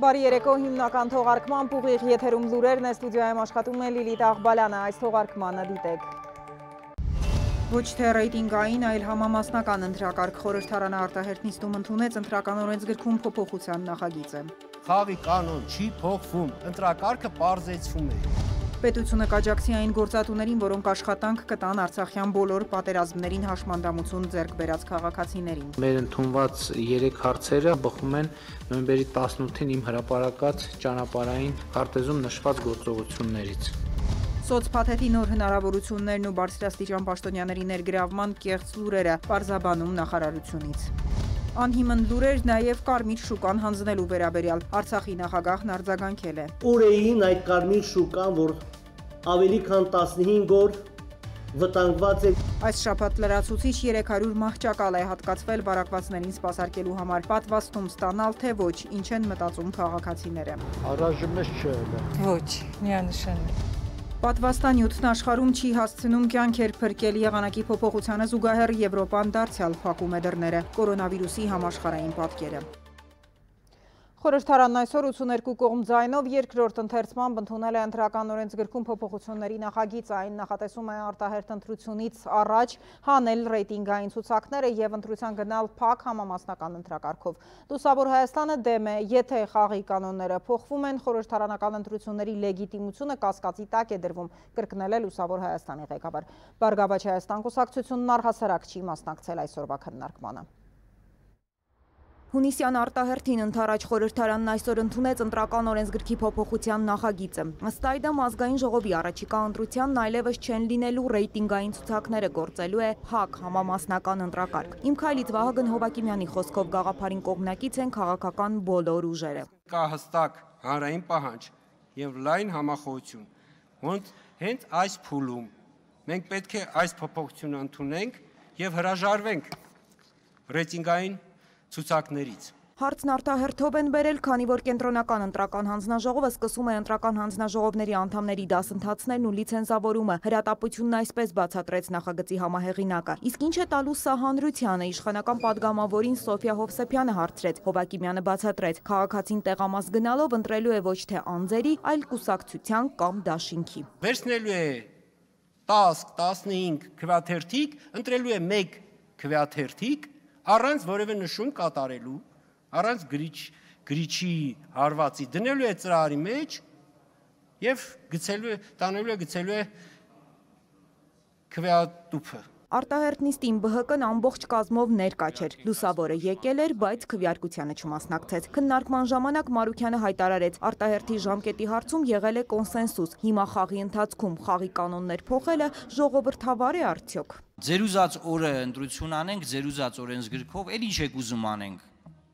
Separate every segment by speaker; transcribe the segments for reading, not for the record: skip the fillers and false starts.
Speaker 1: Բարի երեկո, հիմնական թողարկման ուղիղ եթերում լուրերն է, ստուդիայում աշխատում է Լիլիթ Աղբալյանը, այս թողարկմանը դիտեք։ Ոչ թե ռեյտինգային, այլ համամասնական ընտրակարգ խորհրդարանը արտահերթ նիստում ընդունեց ընտրական օրենսգրքում փոփոխության նախագիծը։
Speaker 2: Խաղի կանոն չի փոխվում, ընտրակարգը պարզեցվում է։
Speaker 1: Պետությունը կաջակցի այն գործատուներին, որոնք աշխատանք կտան Արցախյան բոլոր պատերազմներին հաշմանդամություն ձեռք բերած քաղաքացիներին։
Speaker 3: Մեր ընդունված 3 հարցերը բխում են նոյեմբերի 18-ին իմ հրապարակած ճանապարհային քարտեզում նշված գործողություններից։
Speaker 1: Սոցփաթեթի նոր հնարավորություններն ու բարձրաստիճան պաշտոնյաների ներգրավման կեղծ լուրերը պարզաբանում նախարարությունից։ Անհիմն լուրեր նաև կարմիր շուկան հանձնելու վերաբերյալ Արցախի նախագահն արձագանքել է։
Speaker 4: Ուր էին այդ կարմիր շուկան, որ ավելի քան 15 օր վտանգված է։
Speaker 1: Այս շաբաթ լրացուցիչ 300 մահճակալ է հատկացվել բարակվածներին սպասարկելու համար, պատվաստում ստանալ թե ոչ, ինչ են մտածում քաղաքացիները։
Speaker 5: Առայժմ չէ։
Speaker 6: Ոչ, միանշանակ։
Speaker 1: Պատվաստանյութն աշխարհում չի հասցնում կյանքեր փրկել եղանակի փոփոխությանը զուգահեռ Եվրոպան դարձյալ փակում է դռները, կորոնավիրուսի համաշխարհային պատկերը։ Խորհրդարանն այսօր 82 կողմ ձայնով երկրորդ ընթերցմամբ ընդունել է ընտրական օրենսգրքում փոփոխությունների նախագիծը, այն նախատեսում է արտահերթ ընտրությունից առաջ հանել ռեյտինգային ցուցակները եւ ընտրության գնալ փակ համամասնական ընտրակարգով։ Լուսավոր Հայաստանը դեմ է, եթե խաղի կանոնները փոխվում են, խորհրդարանական ընտրությունների լեգիտիմությունը կասկածի տակ է դրվում, կրկնել է Լուսավոր Հայաստանի ղեկավար։ Բարգավաճ Հայաստան կուսակցությունն առհասարակ չի մասնակցել այսօրվա քննարկմանը։ Հունիսյան արտահերթին ընդառաջ խորհրդարանն այսօր ընդունեց ընտրական օրենսգրքի փոփոխության նախագիծը։ Ըստ այդմ ազգային ժողովի առաջիկա ընտրությանն այլևս չեն լինելու ռեյտինգային ցուցակները, գործելու է փակ համամասնական ընտրակարգ։ Իմ քայլից Վահագն Հովակիմյանի խոսքով գաղափարին կողմնակից են քաղաքական բոլոր ուժերը։
Speaker 2: Կա հստակ հանրային պահանջ եւ լայն համախոհություն, ոնց հենց այս փուլում մենք պետք է այս փոփոխությունը ընդունենք եւ հրաժարվենք ռեյտինգային ցուցակներից։
Speaker 1: Հարցն արտահերթով են բերել, քանի որ կենտրոնական ընտրական հանձնաժողովը սկսում է ընտրական հանձնաժողովների անդամների դասընթացներն ու լիցենզավորումը։ Հրատապությունն այսպես բացատրեց նախագծի համահեղինակը։ Իսկ ինչ է տալու սա հանրությանը, իշխանական падգամավորին Սոֆիա Հովսեփյանը հարցրեց։ Հովակիմյանը բացատրեց, քաղաքացին տեղամաս գնալով ընտրելու է ոչ թե անձերի, այլ կուսակցության կամ դաշինքի։
Speaker 2: Վերցնելու է 10-15 քվեաթերթիկ, ընտրելու է 1 քվեաթերթիկ առանց որևէ նշում կատարելու, առանց գրիչի հարվածի դնելու է ծրարի մեջ եւ գցելու է քվեատուփը։
Speaker 1: Արտահերթ նիստին ԲՀԿ-ն ամբողջ կազմով ներկա չէր։ Լուսավորը եկել էր, բայց քվեարկությանը չմասնակցեց։ Քննարկման ժամանակ Մարուքյանը հայտարարեց, արտահերթի ժամկետի հարցում եղել է կոնսենսուս։ Հիմա խաղի ընթացքում խաղի կանոններ փոխելը ժողովրդավար է արդյոք։
Speaker 7: Ձեր ուզած օրը ընտրություն անենք, ձեր ուզած օրենսգրքով, էլ ինչ եք ուզում անենք։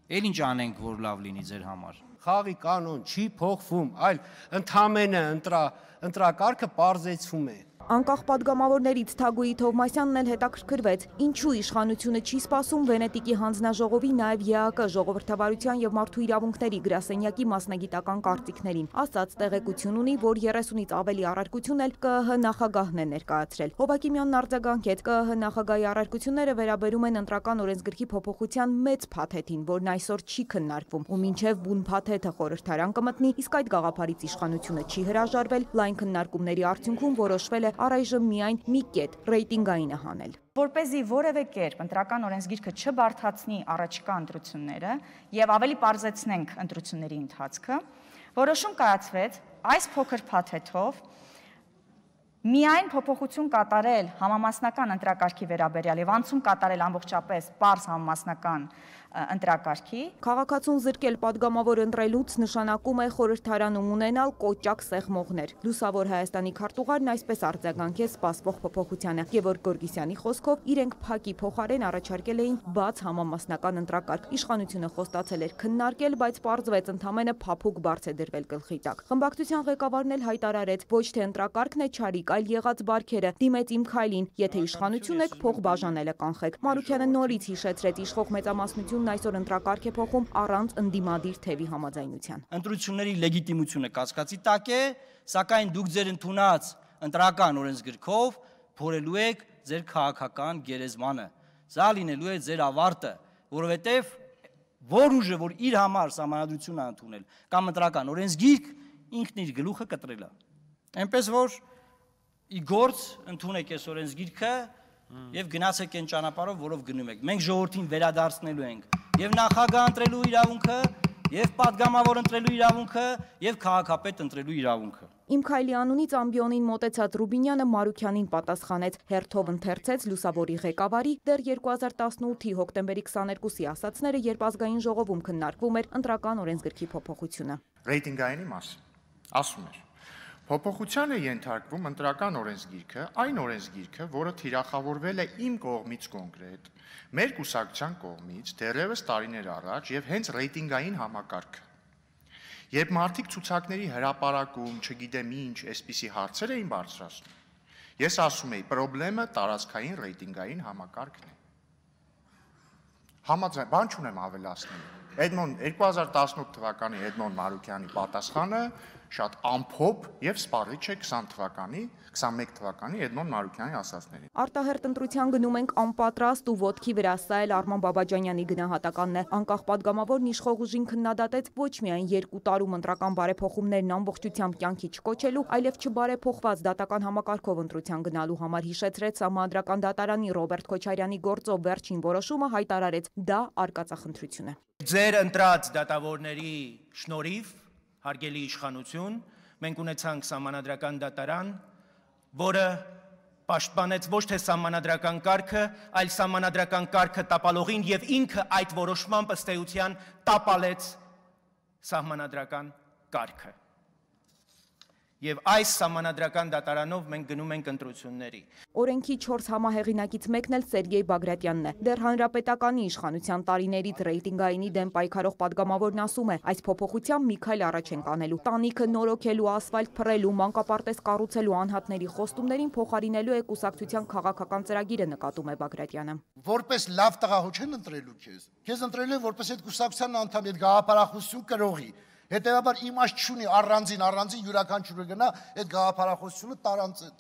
Speaker 7: Էլ ինչ անենք, որ լավ լինի ձեր համար։
Speaker 2: Խաղի կանոն չի փոխվում, այլ ընդհանրապես ընտրակարգը պարզեցվում է։
Speaker 1: Անկախ падգամավորներից Թագուհի Թովմասյանն էլ հետաքրքրվեց, ինչու իշխանությունը չի սպասում Վենետիկի հանձնաժողովի, նաև ԵԱԿ ժողովրդավարության եւ մարդու իրավունքների գրասենյակի մասնագիտական կարծիքներին։ Ասաց տեղեկություն ունի, որ 30-ից ավելի առարկություն էլ ԿԸՀ նախագահն է ներկայացրել։ Հովակիմյանն արձագանքեց, ԿԸՀ նախագահի առարկությունները վերաբերում են ընտրական օրենսգրքի փոփոխության մեծ փաթեթին, որն այսօր չի քննարկվում, ու մինչև բուն փաթեթը խորհրդարան կմտնի, իսկ այդ գաղափարից իշխանությունը չի հրաժարվել, լայն քննարկումների արդյունքում որոշվել է առայժմ միայն մի կետ ռեյտինգայինը հանել։
Speaker 8: Որպեսզի որևէ կերպ ընտրական օրենսգիրքը չբարթացնի առաջիկա ընտրությունները եւ ավելի պարզեցնենք ընտրությունների ընթացքը, որոշում կայացվեց այս փոքր փաթեթով միայն փոփոխություն կատարել համամասնական ընտրակարգի վերաբերյալ եւ անցում կատարել ամբողջապես պարզ համամասնական ընտրակարգի։
Speaker 1: Քաղաքացուն զրկել падգամավոր ընտրելուց նշանակում է խորհրդարանում ունենալ կոճակ սեղմողներ։ Լուսավոր Հայաստանի քարտուղարն այսպես արձագանքեց սպասվող փոփոխությանը։ Գևորգ Գորգիսյանի խոսքով իրենք փակի փոխարեն առաջարկել էին բաց համամասնական ընտրակարգ։ Իշխանությունը խոստացել էր քննարկել, բայց պարզվեց ընդամենը փափուկ բարձ է դրվել գլխի տակ։ Խմբակցության ղեկավարն էլ հայտարարեց, ոչ թե ընտրակարգն է չարիք, այլ եղած բարքերը, դիմեց իմ քայլին, եթե իշխանություն եք, փող բաժանելը կանխեք։ Մարուքյանը նորից հիշեցրեց, իշխող մեծամասնությունն այսօր ընտրակարգ է փոխում առանց ընդդիմադիր թևի համաձայնության։
Speaker 7: Ընտրությունների լեգիտիմությունը կասկածի տակ է, սակայն դուք ձեր ընդունած ընտրական օրենսգրքով փորելու եք ձեր քաղաքական գերեզմանը։ Սա լինելու է ձեր ավարտը, որովհետև որ ուժը, որ իր համար սահմանադրություն է ընդունել, կամ ընտրական օրենսգիրք, ինքն իր գլուխը կտրել է։ Այնպես որ ի գործ ընդունեք այս օրենսգիրքը եւ գնացեք այն ճանապարհով, որով գնում եք։ Մենք ժողովրդին վերադարձնելու ենք եւ նախագահ ընտրելու իրավունքը, եւ падգամավոր ընտրելու իրավունքը, եւ քաղաքապետ ընտրելու իրավունքը։
Speaker 1: Իմ քայլի անունից ամբիոնին մոտեցած Ռուբինյանը Մարուքյանին պատասխանեց, հերթով ընթերցեց լուսավորի ղեկավարի դեռ 2018-ի հոկտեմբերի 22-ի ասացները, երբ ազգային ժողովում քննարկվում էր ընտրական օրենսգրքի փոփոխությունը։
Speaker 5: Ռեյտինգայինի մասին ասում էր. Փոփոխության է ենթարկվում ընտրական օրենսգիրքը, այն օրենսգիրքը, որը թիրախավորվել է իմ կողմից կոնկրետ, մեր կուսակցության կողմից դեռևս տարիներ առաջ եւ հենց ռեյտինգային համակարգը։ Երբ մարդիկ ցուցակների հրապարակում, չգիտեմ ինչ, այսպիսի հարցեր էին բարձրացնում, ես ասում եի, խնդրեմը տարածքային ռեյտինգային համակարգն է։ Համաձայն, բան չունեմ ավելացնելու։ 2018 թվականի Էդմոն Մարուքյանի պատասխանը շատ ամփոփ եւ սպառիչ է 21 թվականի Էդմոն Մարուքյանի ասածներին։
Speaker 1: Արտահերտ ընտրության գնում ենք անպատրաստ ու ոտքի վրա, սա էլ Արման Բաբաջանյանի գնահատականն է։ Անկախ падգամավորն իշխող ուժին քննադատեց ոչ միայն 2 տարում ընտրական բարեփոխումներն ամբողջությամբ կյանքի չկոչելու, այլև չբարեփոխված դատական համակարգով ընտրության գնալու համար հիշեցրեց Սահմանադրական դատարանի Ռոբերտ Քոչարյանի գործով վերջին որոշումը, հայտարարեց դա արկածախնդրություն է։
Speaker 9: Ձեր ընտրած դատավորների շնորհիվ, հարգելի իշխանություն, մենք ունեցանք Սահմանադրական դատարան, որը պաշտպանեց ոչ թե սահմանադրական կարգը, այլ սահմանադրական կարգը տապալողին եւ ինքը այդ որոշմամբ ըստ էության տապալեց սահմանադրական կարգը։ Եվ այս սահմանադրական դատարանով մենք գնում ենք ընտրությունների։
Speaker 1: Օրենքի 4 համահեղինակից մեկն էլ Սերգեյ Բագրատյանն է։ Դեռ հանրապետականի իշխանության տարիներից ռեյտինգայինի դեմ պայքարող падգամավորն ասում է, այս փոփոխությամբ մի քայլ առաջ ենք անելու։ Տանիքը նորոգելու, ասֆալտ փռելու, մանկապարտեզ կառուցելու անհատների խոստումներին փոխարինելու է կուսակցության քաղաքական ծրագիրը, նկատում է Բագրատյանը։
Speaker 10: Որպես լավ տղահո չեն ընտրելու քեզ։ Քեզ ընտրելու են որպես այդ կուսակցության անդամ, այդ գաղափարախոսություն կրողի։ Հետևաբար իմաստ չունի առանձին յուրաքանչյուրը գնա այդ գաղափարախոսությունը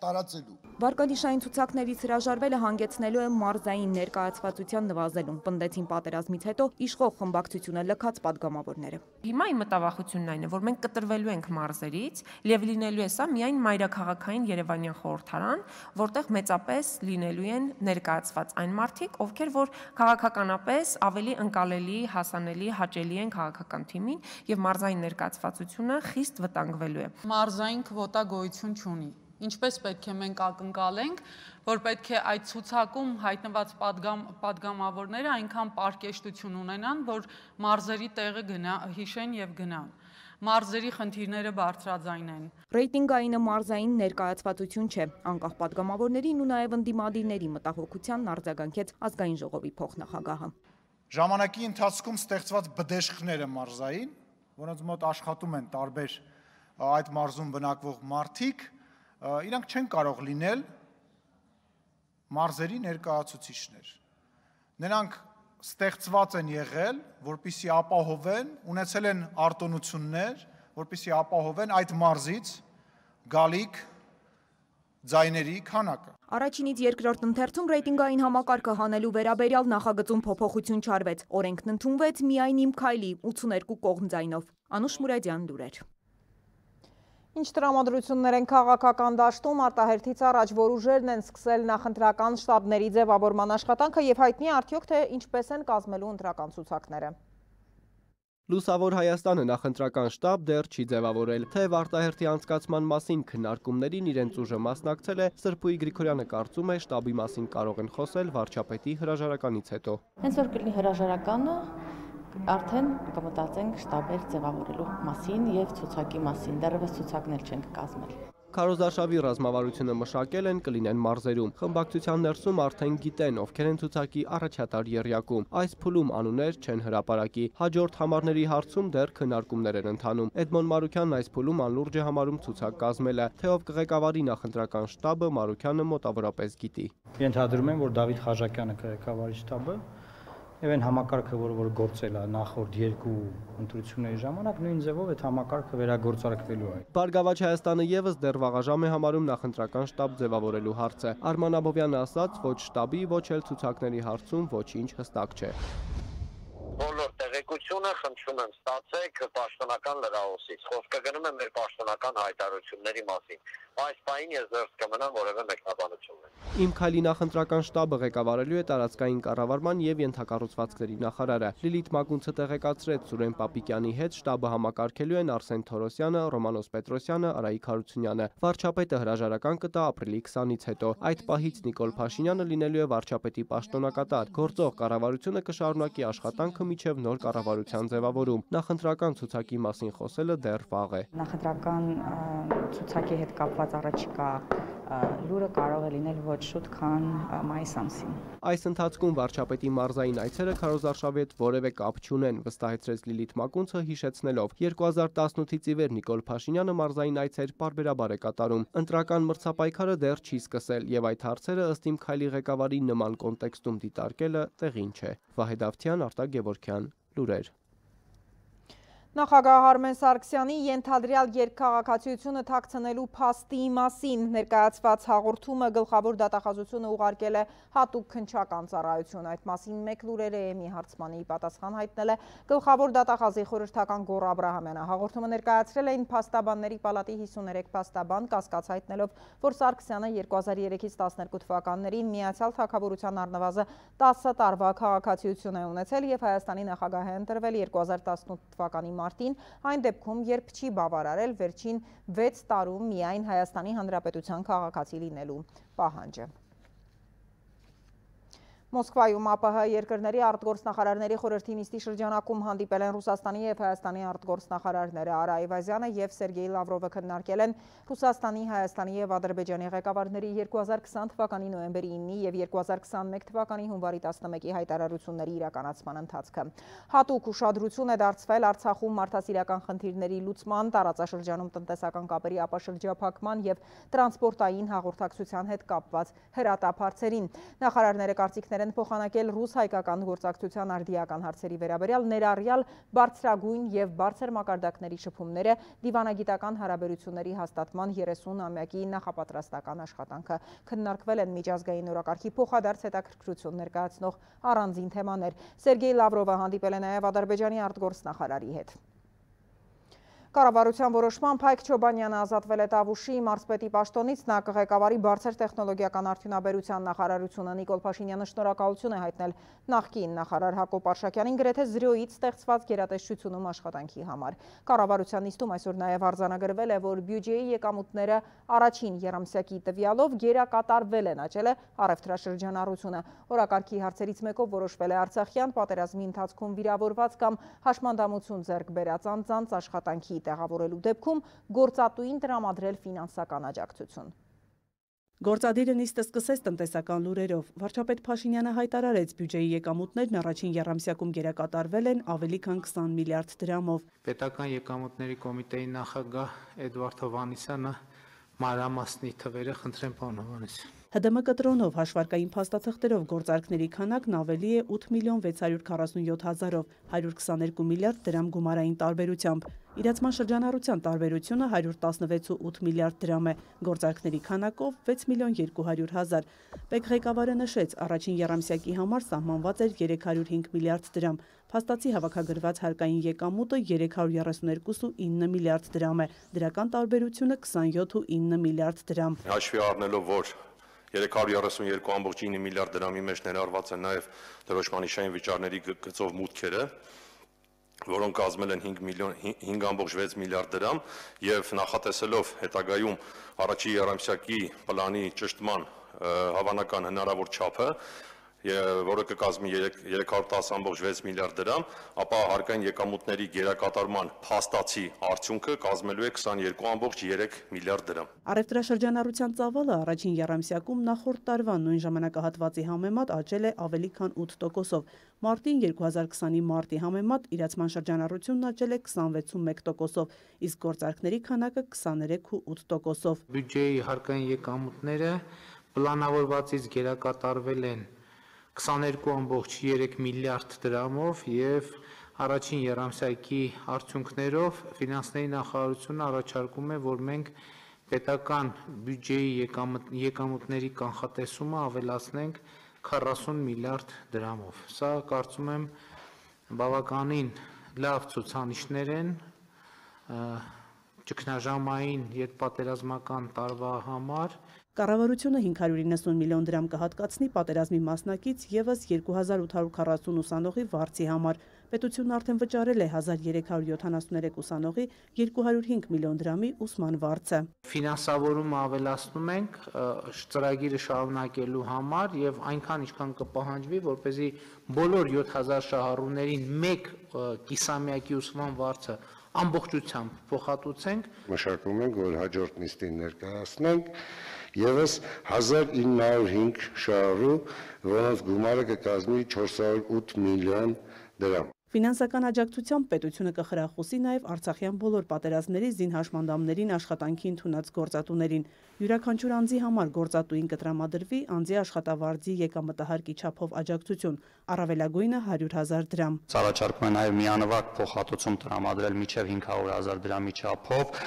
Speaker 10: տարածելու։
Speaker 1: Վարկանիշային ցուցակներից հրաժարվելը հանգեցնելու է մարզային ներկայացվածության նվազելուն, պնդեցին պատերազմից հետո իշխող խմբակցությունը լքած падգամավորները։
Speaker 11: Հիմա իմ մտավախությունն այն է, որ մենք կտրվելու ենք մարզերից, եւ լինելու է սա միայն մայրաքաղաքային Երևանյան խորհրդարան, որտեղ մեծապես լինելու են ներկայացված այն մարդիկ, ովքեր որ քաղաքականապես ավելի ընկալելի, հասանելի, հաճելի են քաղաքական թիմին եւ մարզային ներկայացվածությունը խիստ վտանգվելու է։
Speaker 6: Մարզային քվոտա գոյություն չունի։ Ինչպես պետք է մենք ակնկալենք, որ պետք է այդ ցուցակում հայտնված падգամավորները այնքան պարկեշտություն ունենան, որ մարզերի տեղը հիշեն եւ գնան։ Մարզերի խնդիրները բարձրաձայնեն։
Speaker 1: Ռեյտինգայինը մարզային ներկայացվածություն չէ, անկախ падգամավորներին ու նաեւ ընդդիմադիրների մտահոգությանն արձագանքեց ազգային ժողովի փոխնախագահը։
Speaker 12: Ժամանակի ընթացքում ստեղծված բդեշխները մարզային, որոնց մոտ աշխատում են տարբեր այդ մարզում բնակվող մարդիկ, իրանք չեն կարող լինել մարզերի ներկայացուցիչներ։ Նրանք ստեղծված են եղել, որպեսզի ապահովեն, ունեցել են արտոնություններ, որպեսզի ապահովեն այդ մարզից գալիք ձայների քանակը։
Speaker 1: Առաջինից երկրորդ ընթերցում ռեյտինգային համակարգը հանելու վերաբերյալ նախագծում փոփոխություն չարվեց։ Օրենքն ընդունվեց միայն իմ քայլի 82 կողմ ձայնով։ Անուշ Մուրադյան, լուրեր։
Speaker 13: Ինչ տրամադրություններ են քաղաքական դաշտում, արտահերթից առաջ որ ուժերն են սկսել նախընտրական շտաբների ձևավորման աշխատանքը եւ հայտնի արդյոք թե ինչպես են կազմելու ընտրական ցուցակները։
Speaker 14: Լուսավոր Հայաստանը նախընտրական շտաբ դեռ չի ձևավորել, թեև արտահերթի անցկացման մասին քննարկումներին իրենց ուժը մասնակցել է, Սրբուի Գրիգորյանը կարծում է շտաբի մասին կարող են խոսել վարչապետի հրաժարականից հետո։
Speaker 15: Հենց որ կլինի հրաժարականը, արդեն կմտածենք շտաբեր ձևավորելու մասին եւ ցուցակի մասին, դեռևս ցուցակներ չենք կազմել։
Speaker 14: Քարոզարշավի ռազմավարությունը մշակել են, կլինեն մարզերում։ Խմբակցության ներսում արդեն գիտեն, ովքեր են ցուցակի առաջատար եռյակում։ Այս փուլում անուններ չեն հրապարակի։ Հաջորդ համարների հարցում դեռ քննարկումներ են ընթանում։ Էդմոն Մարուքյանն այս փուլում անլուրջ է համարում ցուցակ կազմելը, թե ով կղեկավարի նախընտրական շտաբը Մարուքյանը մոտավորապես գիտի։
Speaker 16: Ենթադրում եմ, որ Դավիթ Խաչակյանը կղեկավարի շտաբը եւ այն համակարգը, որ գործել է նախորդ երկու ընտրությունների ժամանակ, նույն ձևով այդ համակարգը վերագործարկվելու է։
Speaker 14: Բարգավաճ Հայաստանը եւս դեռ վաղաժամ է համարում նախընտրական շտաբ ձևավորելու հարցը։ Արման Աբովյանը ասաց, ոչ շտաբի, ոչ էլ ցուցակների հարցում ոչինչ հստակ չէ։
Speaker 17: Բոլոր տեղեկությունները հիշում եմ ստացեք պաշտոնական լրահոսից, խոսքը գնում է մեր պաշտոնական հայտարարությունների մասին, այս պահին ես դեռ կմնամ որևէ մեկնաբանություն ունենամ։
Speaker 14: Իմ քայլի նախընտրական շտաբը ղեկավարելու է տարածքային կառավարման եւ ենթակառուցվածքների նախարարը։ Լիլիթ Մակունցը տեղեկացրեց Սուրեն Պապիկյանի հետ շտաբը համակարգելու են Արսեն Թորոսյանը, Ռոմանոս Պետրոսյանը, Արայիկ Հարությունյանը։ Վարչապետը հրաժարական կտա ապրիլի 20-ից հետո։ Այդ պահից Նիկոլ Փաշինյանը լինելու է վարչապետի պաշտոնակատար։ Գործող կառավարությունը կշարունակի աշխատանքը մինչև նոր կառավարության ձևավորում։ Նախընտրական ցուցակի մասին խոսելը դեռ վաղ է։
Speaker 8: Նախընտրական ցուցակի հետ կապված առաջիկա լուրը կարող է լինել ոչ շուտ, քան մայիս ամսին։
Speaker 14: Այս ընթացքում վարչապետի մարզային այցերը քարոզարշավի հետ որևէ կապ չունեն, վստահեցրեց Լիլիթ Մակունցը, հիշեցնելով 2018-ից ի վեր Նիկոլ Փաշինյանը մարզային այցեր պարբերաբար է կատարում։ Ընտրական մրցապայքարը դեռ չի սկսել եւ այդ հարցերը ըստ Իմ քայլի ղեկավարի նման կոնտեքստում դիտարկելը տեղին չէ։ Վահե Դավթյան, Արտակ Գևորգյան, լուրեր։
Speaker 13: Նախագահ Արմեն Սարգսյանի ենթադրյալ երկքաղաքացիությունը թաքցնելու փաստի մասին ներկայացված հաղորդումը գլխավոր դատախազությունը ուղարկել է հատուկ քննչական ծառայություն։ Այդ մասին մեկ լուրերը էմի հարցմանի պատասխան հայտնել է գլխավոր դատախազի խորհրդական Գոռ Աբրահամյանը։ Հաղորդումը ներկայացրել էին փաստաբանների պալատի 53 փաստաբան, կասկած հայտնելով, որ Սարգսյանը 2003-ից 12 թվականներին Միացյալ Թագավորության առնվազն 10 տարվա քաղաքացիություն է ունեցել եւ Հայաստանի նախագահ է ընտրվել 2018 թվականի մարտին, այն դեպքում, երբ չի բավարարել վերջին 6 տարում միայն Հայաստանի Հանրապետության քաղաքացի լինելու պահանջը։ Մոսկվայում ԱՊՀ երկրների արտգործնախարարների խորհրդի նիստի շրջանակում հանդիպել են Ռուսաստանի եւ Հայաստանի արտգործնախարարները Արա Այվազյանը եւ Սերգեյ Լավրովը քննարկել են Ռուսաստանի, Հայաստանի եւ Ադրբեջանի ղեկավարների 2020 թվականի նոյեմբերի 9-ի եւ 2021 թվականի հունվարի 11-ի հայտարարությունների իրականացման ընթացքը։ Հատուկ ուշադրություն է դարձվել Արցախում մարդասիրական խնդիրների լուծման, տարածաշրջանում տնտեսական կապերի ապաշրջափակման եւ տրանսպորտային հաղորդակցության հետ կապված հրատապ հարցերին։ Նախարարները կարծիքներ են փոխանակել ռուս-հայկական գործակցության արդիական հարցերի վերաբերյալ, ներառյալ բարձրագույն եւ բարձր մակարդակների շփումները, դիվանագիտական հարաբերությունների հաստատման 30-ամյակի նախապատրաստական աշխատանքը։ Քննարկվել են միջազգային օրակարգի փոխադարձ հետաքրքրություն ներկայացնող առանձին թեմաներ։ Սերգեյ Լավրովը հանդիպել է նաեւ Ադրբեջանի արտգործնախարարի հետ։ Կառավարության որոշմամբ Հայկ Չոբանյանը ազատվել է Տավուշի մարզպետի պաշտոնից, նա կղեկավարի բարձր տեխնոլոգիական արդյունաբերության նախարարությունը։ Նիկոլ Փաշինյանը շնորհակալություն է հայտնել նախկին նախարար Հակոբ Արշակյանին գրեթե զրոյից ստեղծված գերատեսչությունում աշխատանքի համար։ Կառավարության նիստում այսօր նաև արձանագրվել է, որ բյուջեի եկամուտները առաջին եռամսյակի տվյալով գերակատարվել են, աճել է առևտրաշրջանառությունը։ Օրակարգի հարցերից մեկով որոշվել է Արցախյան պատերազմի ընթացքում վիրավորված կամ հաշմանդամություն ձեռք բերած անձանց աշխատանքի տեղավորելու դեպքում գործատուին տրամադրել ֆինանսական աջակցություն։
Speaker 18: Գործադիրը նիստը սկսեց տնտեսական լուրերով։ Վարչապետ Փաշինյանը հայտարարեց, բյուջեի եկամուտներն առաջին եռամսյակում գերակատարվել են ավելի քան 20 միլիարդ դրամով։
Speaker 3: Պետական եկամուտների կոմիտեի նախագահ Էդվարդ Հովհաննիսյանը մանրամասնի թվերը խնդրեմ պարոն Հովհաննիսյան։
Speaker 18: ՀԴՄ կտրոնով հաշվարկային փաստաթղթերով գործարքների քանակն ավելի է 8 միլիոն 647 հազարով, 122 միլիարդ դրամ գումարային տարբերությամբ։ Իրացման շրջանառության տարբերությունը 116.8 միլիարդ դրամ է, գործարքների քանակով 6 միլիոն 200 հազար։ ՊԵԿ ղեկավարը նշեց, առաջին եռամսյակի համար սահմանված էր 305 միլիարդ դրամ։ Փաստացի հավաքագրված հարկային եկամուտը 332.9 միլիարդ դրամ է, դրական տարբերությունը 27.9 միլիարդ դրամ։
Speaker 19: Հաշվի առնելով, որ 332.9 միլիարդ դրամի մեջ ներառված են նաև դրոշմանիշային վիճարների գծով մուտքերը, որոնք կազմել են 5.6 միլիարդ դրամ եւ նախատեսելով հետագայում առաջի եռամսյակի պլանի ճշտման հավանական հնարավոր չափը, որը կկազմի 310.6 միլիարդ դրամ, ապա հարկային եկամուտների գերակատարման փաստացի արդյունքը կազմելու է 22.3 միլիարդ դրամ։
Speaker 18: Առևտրաշրջանառության ծավալը առաջին եռամսյակում նախորդ տարվա նույն ժամանակահատվածի համեմատ աճել է ավելի քան 8%-ով։ Մարտին 2020-ի մարտի համեմատ իրացման շրջանառությունն աճել է 26.1%-ով, իսկ գործարքների քանակը 23.8%-ով։
Speaker 3: Բյուջեի հարկային եկամուտները պլանավորվածից գերակատարվել են 22.3 միլիարդ դրամով եւ առաջին եռամսյակի արդյունքներով ֆինանսների նախարարությունը առաջարկում է, որ մենք պետական բյուջեի եկամուտների կանխատեսումը ավելացնենք 40 միլիարդ դրամով։ Սա կարծում եմ բավականին լավ ցուցանիշներ են ճգնաժամային ետպատերազմական տարվա համար։
Speaker 18: Կառավարությունը 590 միլիոն դրամ կհատկացնի պատերազմի մասնակից ևս 2840 ուսանողի վարձի համար։ Պետությունն արդեն վճարել է 1373 ուսանողի 205 միլիոն դրամի ուսման վարձը։
Speaker 3: Ֆինանսավորումը ավելացնում ենք ծրագիրը շարունակելու համար եւ այնքան ինչքան կպահանջվի, որպեսզի բոլոր 7000 շահառուներին մեկ կիսամյակի ուսման վարձը ամբողջությամբ փոխհատուցենք։
Speaker 20: Մշակում ենք, որ հաջորդ նիստին ներկայացնենք ևս 1905 շահառու, որոնց գումարը կկազմի 408 միլիոն դրամ։
Speaker 18: Ֆինանսական աջակցությամբ պետությունը կխրախուսի նաև Արցախյան բոլոր պատերազմների զինհաշմանդամներին աշխատանքի ընդունած գործատուներին։ Յուրաքանչյուր անձի համար գործատուին կտրամադրվի անձի աշխատավարձի եկամտահարկի չափով աջակցություն, առավելագույնը 100,000 դրամ։
Speaker 21: Առաջարկում է նաև միանվագ փոխհատուցում տրամադրել մինչև 500,000 դրամի չափով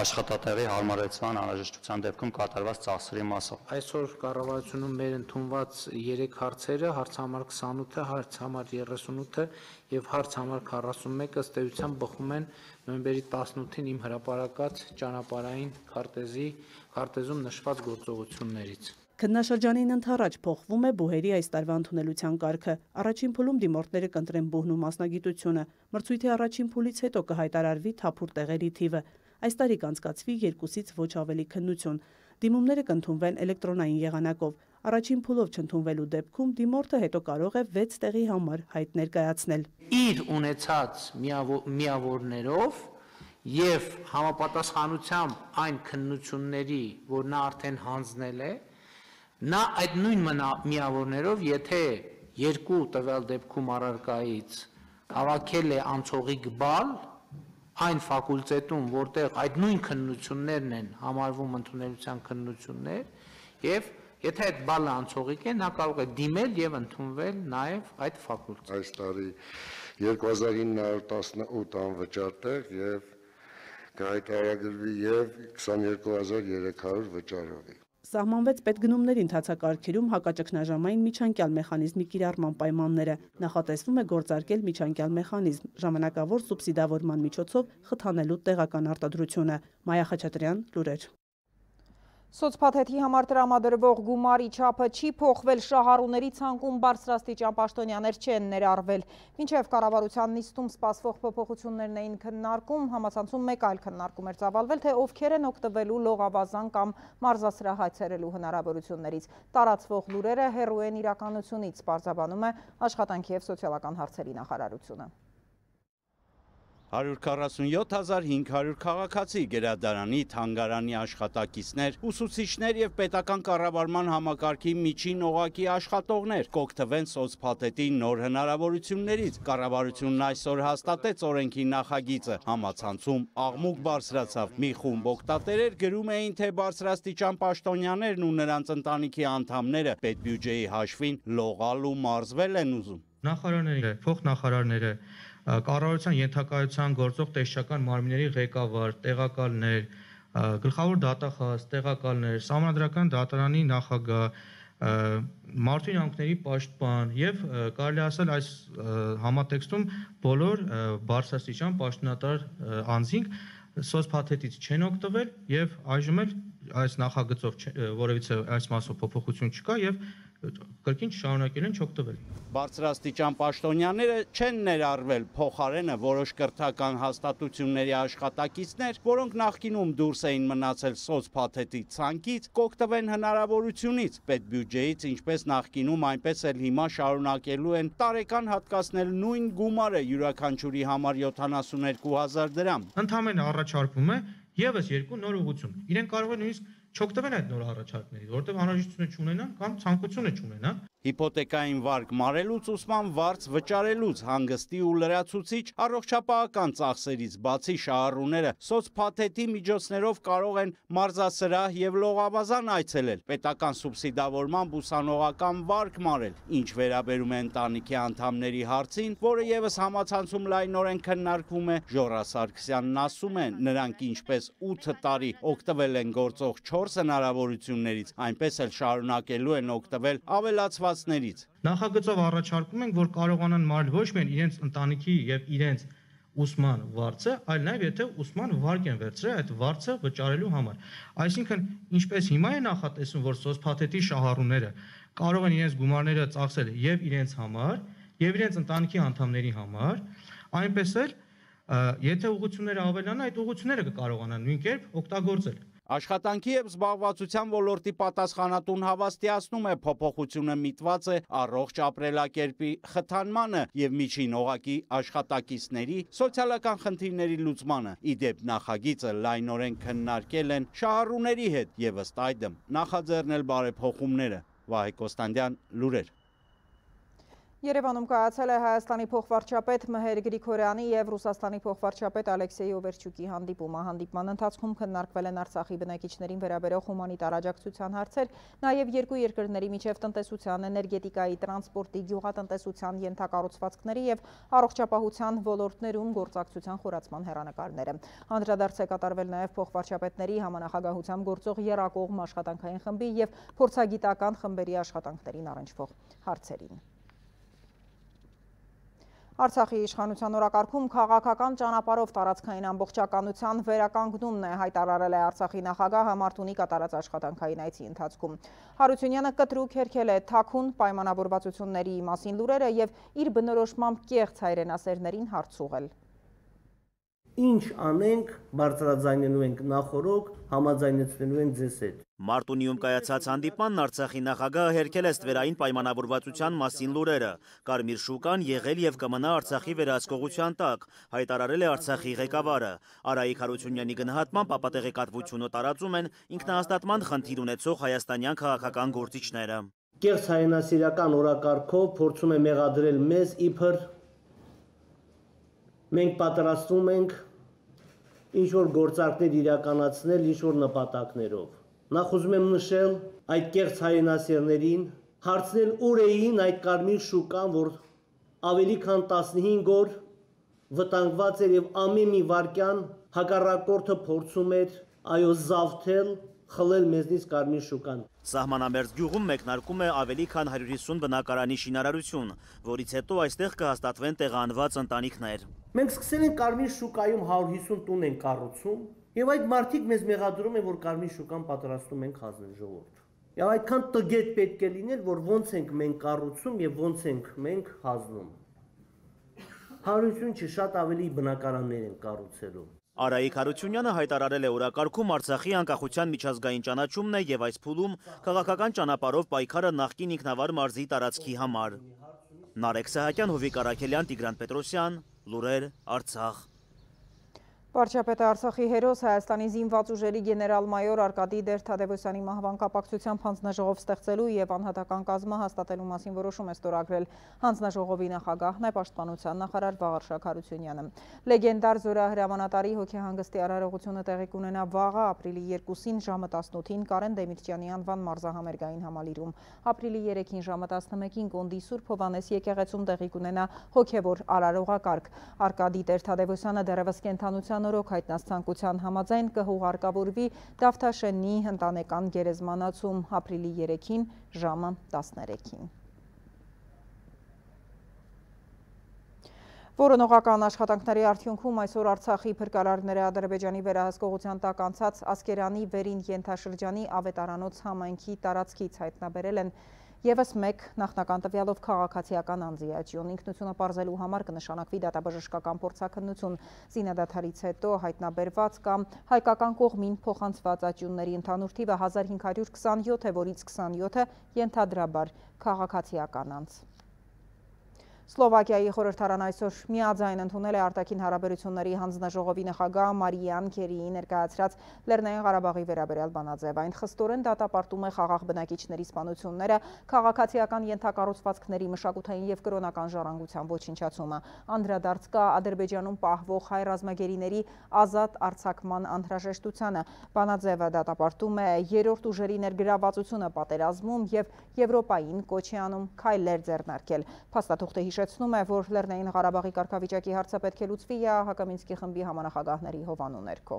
Speaker 21: աշխատատեղի հարմարեցման անհրաժեշտության դեպքում կատարված ծախսերի մասով։
Speaker 3: Այսօր կառավարությունում մեր ընդունված 3 հարցերը, հարց համար 28-ը, հարց համար 38-ը եւ հարց համար 41-ը ըստ էության բխում են նոյեմբերի 18-ին իմ հրապարակած ճանապարհային քարտեզում նշված գործողություններից։
Speaker 18: Քննաշրջանին ընդառաջ փոխվում է բուհերի այս տարվա ընդունելության կարգը։ Առաջին փուլում դիմորդները կընտրեն բուհն ու մասնագիտությունը։ Մրցույթի առաջին փուլից հետո կհայտարարվի թափուր տեղերի թիվը։ Այս տարի կանցկացվի 2-ից ոչ ավելի քննություն։ Դիմումները կընդունվեն էլեկտրոնային եղանակով։ Առաջին փուլով չընդունվելու դեպքում դիմորդը հետո կարող է 6 տեղի համար հայտ ներկայացնել։
Speaker 3: Իր ունեցած միավորներով եւ համապատասխանությամբ այն քննությունների, որ նա արդեն հանձնել է, նա այդ նույն միավորներով, եթե երկու տվյալ դեպքում առարկայից հավաքել է անցողիկ բալ, այն ֆակուլտետում, որտեղ այդ նույն քննություններն են համարվում ընդունելության քննություններ, եւ եթե այդ բալը անցողիկ է, նա կարող է դիմել եւ ընդունվել նաեւ այդ ֆակուլտետ։
Speaker 20: Այս տարի 2918 անվճար տեղ եւ կհայտարարվի եւ 22300 վճարովի։
Speaker 18: Սահմանվեց պետգնումների ընթացակարգերում հակաճգնաժամային միջանկյալ մեխանիզմի կիրառման պայմանները։ Նախատեսվում է գործարկել միջանկյալ մեխանիզմ, ժամանակավոր սուբսիդավորման միջոցով խթանելու տեղական արտադրությունը։ Մայա Խաչատրյան, լուրեր։
Speaker 13: Սոցփաթեթի համար տրամադրվող գումարի չափը չի փոխվել, շահառուների ցանկում բարձրաստիճան պաշտոնյաներ չեն ներառվել։ Մինչև կառավարության նիստում սպասվող փոփոխություններն էին քննարկում, համացանցում մեկ այլ քննարկում էր ծավալվել, թե ովքեր են օգտվելու լողավազան կամ մարզասրահ հայցելելու հնարավորություններից։ Տարածվող լուրերը հեռու են իրականությունից, պարզաբանում է Աշխատանքի և սոցիալական հարցերի նախարարությունը։
Speaker 22: 147,500 քաղաքացի, գերադարանի, թանգարանի աշխատակիցներ, ուսուցիչներ եւ պետական կառավարման համակարգի միջին օղակի աշխատողներ կօգտվեն սոցփաթեթի նոր հնարավորություններից։ Կառավարությունն այսօր հաստատեց օրենքի նախագիծը, համացանցում աղմուկ բարձրացավ։ Մի խումբ օգտատերեր գրում էին, թե բարձրաստիճան պաշտոնյաներն ու նրանց ընտանիքի անդամները պետբյուջեի հաշվին լողալ ու մարզվել են ուզում։
Speaker 23: Նախարարները, փոխնախարարները, կառավարության ենթակայության գործող տեսչական մարմինների ղեկավար, տեղակալներ, գլխավոր դատախազ, տեղակալներ, Սահմանադրական դատարանի նախագահ, մարդու իրավունքների պաշտպան եւ կարելի ասել այս համատեքստում բոլոր բարձրաստիճան պաշտոնատար անձինք սոցփաթեթից չեն օգտվել եւ այժմ էլ այս նախագծով որևիցե այս մասով փոփոխություն չկա եւ կրկին շարունակել են չօգտվել։
Speaker 22: Բարձրաստիճան պաշտոնյաները չեն ներառվել, փոխարենը որոշ կրթական հաստատությունների աշխատակիցներ, որոնք նախկինում դուրս էին մնացել սոցփաթեթի ցանկից, կօգտվեն հնարավորությունից։ Պետբյուջեից ինչպես նախկինում, այնպես էլ հիմա շարունակելու են տարեկան հատկացնել նույն գումարը յուրաքանչյուրի համար 72,000 դրամ։
Speaker 23: Ընդհանրապես առաջարկվում է եւս երկու նոր ուղղություն։ Իրեն կարող է նույնիսկ չօգտվեն այդ նոր առաջարկներից, որտեղ անհրաժեշտությունը չունենան կամ ցանկությունը չունենան։
Speaker 22: Հիփոթեկային վարկ մարելուց, ուսման վարձ վճարելուց, հանգստի ու լրացուցիչ առողջապահական ծախսերից բացի շահառուները սոցփաթեթի միջոցներով կարող են մարզասրահ եւ լողավազան այցելել, պետական սուբսիդավորման ուսանողական վարկ մարել։ Ինչ վերաբերում է ընտանիքի անդամների հարցին, որը եւս համացանցում լայնորեն քննարկվում է, Ժորա Սարգսյանն ասում է, նրանք ինչպես 8 տարի օգտվել են գործող 4 հնարավորություններից, այնպես էլ շարունակելու են օգտվել ավելացված Նախագծով
Speaker 23: առաջարկում ենք, որ կարողանան մարել ոչ միայն իրենց ընտանիքի եւ իրենց ուսման վարձը, այլ նաև եթե ուսման վարկ են վերցրել այդ վարձը վճարելու համար։ Այսինքն, ինչպես հիմա է նախատեսում, որ սոցփաթեթի շահառուները կարող են իրենց գումարները ծախսել եւ իրենց համար, եւ իրենց ընտանիքի անդամների համար, այնպես էլ եթե ուղղությունները ավելանան, այդ ուղղությունները կկարողանան նույն կերպ օգտագործել։
Speaker 22: Աշխատանքի եւ զբաղվածության ոլորտի պատասխանատուն հավաստիացնում է փոփոխությունը միտված է առողջ ապրելակերպի խթանմանը եւ միջին օղակի աշխատակիցների սոցիալական խնդիրների լուծմանը։ Իդեպ նախագիծը լայնորեն քննարկել են շահառուների հետ եւ ըստ այդմ նախաձեռնել բարեփոխումները։ Վահե Կոստանդյան, լուրեր։
Speaker 13: Երևանում կայացել է Հայաստանի փոխվարչապետ Մհեր Գրիգորյանի եւ Ռուսաստանի փոխվարչապետ Ալեքսեյ Օվերչուկի հանդիպումը։ Հանդիպման ընթացքում քննարկվել են Արցախի բնակիչներին վերաբերող հումանիտար աջակցության հարցեր, նաեւ երկու երկրների միջև տնտեսության, էներգետիկայի, տրանսպորտի, գյուղատնտեսության, ենթակառուցվածքների եւ առողջապահության ոլորտներում գործակցության խորացման հեռանկարները։ Անդրադարձ է կատարվել նաեւ փոխվարչապետների համանախագահությամբ գործող եռակողմ աշխատանքային խմբի եւ փորձագիտական խմբերի աշխատանքներին առնչվող հարցերին։ Արցախի իշխանության օրակարգում քաղաքական ճանապարհով տարածքային ամբողջականության վերականգնումն է, հայտարարել է Արցախի նախագահը Մարտունի կատարած աշխատանքային այցի ընթացքում։ Հարությունյանը կտրուկ հերքել է թաքուն պայմանավորվածությունների մասին լուրերը եւ իր բնորոշմամբ կեղծ հայրենասերներին հարց ուղղել։
Speaker 2: Ինչ անենք, բարձրաձայնելու ենք նախորոք, համաձայնեցնելու ենք ձեզ հետ։
Speaker 4: Մարտունիում կայացած հանդիպմանն Արցախի նախագահը հերքել է ստվերային պայմանավորվածության մասին լուրերը։ Կարմիր շուկան եղել եւ կմնա Արցախի վերահսկողության տակ, հայտարարել է Արցախի ղեկավարը։ Արայիկ Հարությունյանի գնահատմամբ ապատեղեկատվությունը տարածում են ինքնահաստատման խնդիր ունեցող հայաստանյան քաղաքական գործիչները։
Speaker 2: Կեղծ հայրենասիրական օրակարգով փորձում է մեղադրել մեզ իբր մենք պատրաստվում ենք ինչ-որ գործարքներ իրականացնել ինչ-որ նպատակներով։ Նախ ուզում եմ նշել այդ կեղծ հայրենասերներին, հարցնել ուր էին այդ կարմիր շուկան, որ ավելի քան 15 օր վտանգված էր եւ ամեն մի վարքյան հակառակորդը փորձում էր զավթել, խլել մեզնից կարմիր շուկան։
Speaker 4: Սահմանամերձ գյուղում մեկնարկում է ավելի քան 150 բնակարանի շինարարություն, որից հետո այստեղ կհաստատվեն տեղանված ընտանիքներ։
Speaker 2: Մենք սկսել ենք կարմիր շուկայում 150 տուն են կառուցում եւ այդ մարդիկ մեզ մեղադրում են, որ կարմիր շուկան պատրաստում ենք հանձնել ժողովուրդ։ Եվ այդքան տգետ պետք է լինել, որ ոնց ենք մենք կառուցում եւ ոնց ենք մենք հանձնում։ Հարություն չի, շատ ավելի բնակարաններ են կառուցելու։
Speaker 4: Արայիկ Հարությունյանը հայտարարել է օրակարգում Արցախի անկախության միջազգային ճանաչումն է եւ այս փուլում քաղաքական ճանապարհով պայքարը նախկին ինքնավար մարզի տարածքի համար։ Նարեկ Սահակյան, Հովիկ Արաքելյան, Տիգրան Պետրոսյան, լուրեր, Արցախ։
Speaker 13: Վարչապետը Արցախի հերոս Հայաստանի զինված ուժերի գեներալ-մայոր Արկադի Դեր-Թադևոսյանի մահվան կապակցությամբ հանձնաժողով ստեղծելու եւ անհատական կազմը հաստատելու մասին որոշում է ստորագրել հանձնաժողովի նախագահն է պաշտպանության նախարար Վաղարշակ Հարությունյանը։ Լեգենդար զորահրամանատարի հոգեհանգստի արարողությունը տեղի կունենա վաղը ապրիլի 2-ին ժամը 18-ին Կարեն Դեմիրճյանի անվան մարզահամերգային համալիրում։ Ապրիլի 3-ին ժամը 11-ին Կոնդի Սուրբ Հովհաննես եկեղեցում տեղի կունենա հոգևոր արարողակարգ։ Արկադի Դեր-Թադևոսյանը դեռևս կենթանության օրոք հայտնած ցանկության համաձայն կհուղարկավորվի Դավթաշենի ընտանեկան գերեզմանացում ապրիլի 3-ին ժամը 13-ին։ Որոնողական աշխատանքների արդյունքում այսօր Արցախի փրկարարները Ադրբեջանի վերահսկողության տակ անցած Ասկերանի վերին ենթաշրջանի Ավետարանոց համայնքի տարածքից հայտնաբերել են Եվս մեկ նախնական տվյալով քաղաքացիական անձի աճյուն ինքնությունը պարզելու համար կնշանակվի դատաբժշկական փորձաքննություն զինադադարից հետո հայտնաբերված կամ հայկական կողմին փոխանցված աճյունների ընդհանուր թիվը 1527 է, որից 27-ը ենթադրաբար քաղաքացիական անձ։ Սլովակիայի խորհրդարան այսօր միաձայն ընդունել է արտաքին հարաբերությունների հանձնաժողովի նախագահ Մարիան Քերիի ներկայացրած Լեռնային Ղարաբաղի վերաբերյալ բանաձև։ Այն խստորեն դատապարտում է խաղաղ բնակիչների սպանությունները, քաղաքացիական ենթակառուցվածքների մշակութային եւ կրոնական ժառանգության ոչնչացումը։ Անդրադարձ կա Ադրբեջանում պահվող հայ ռազմագերիների ազատ արձակման անհրաժեշտությանը։ Բանաձևը դատապարտում է երրորդ ուժերի ներգրավվածությունը պատերազմում եւ Եվրոպային կոչ է անում քայլեր ձեռնարկել։ Փաստաթուղթը հիշեցնում է, որ Լեռնային Ղարաբաղի կարգավիճակի հարցը պետք է լուծվի ՀՀԿ Մինսկի խմբի համանախագահների հովանու ներքո։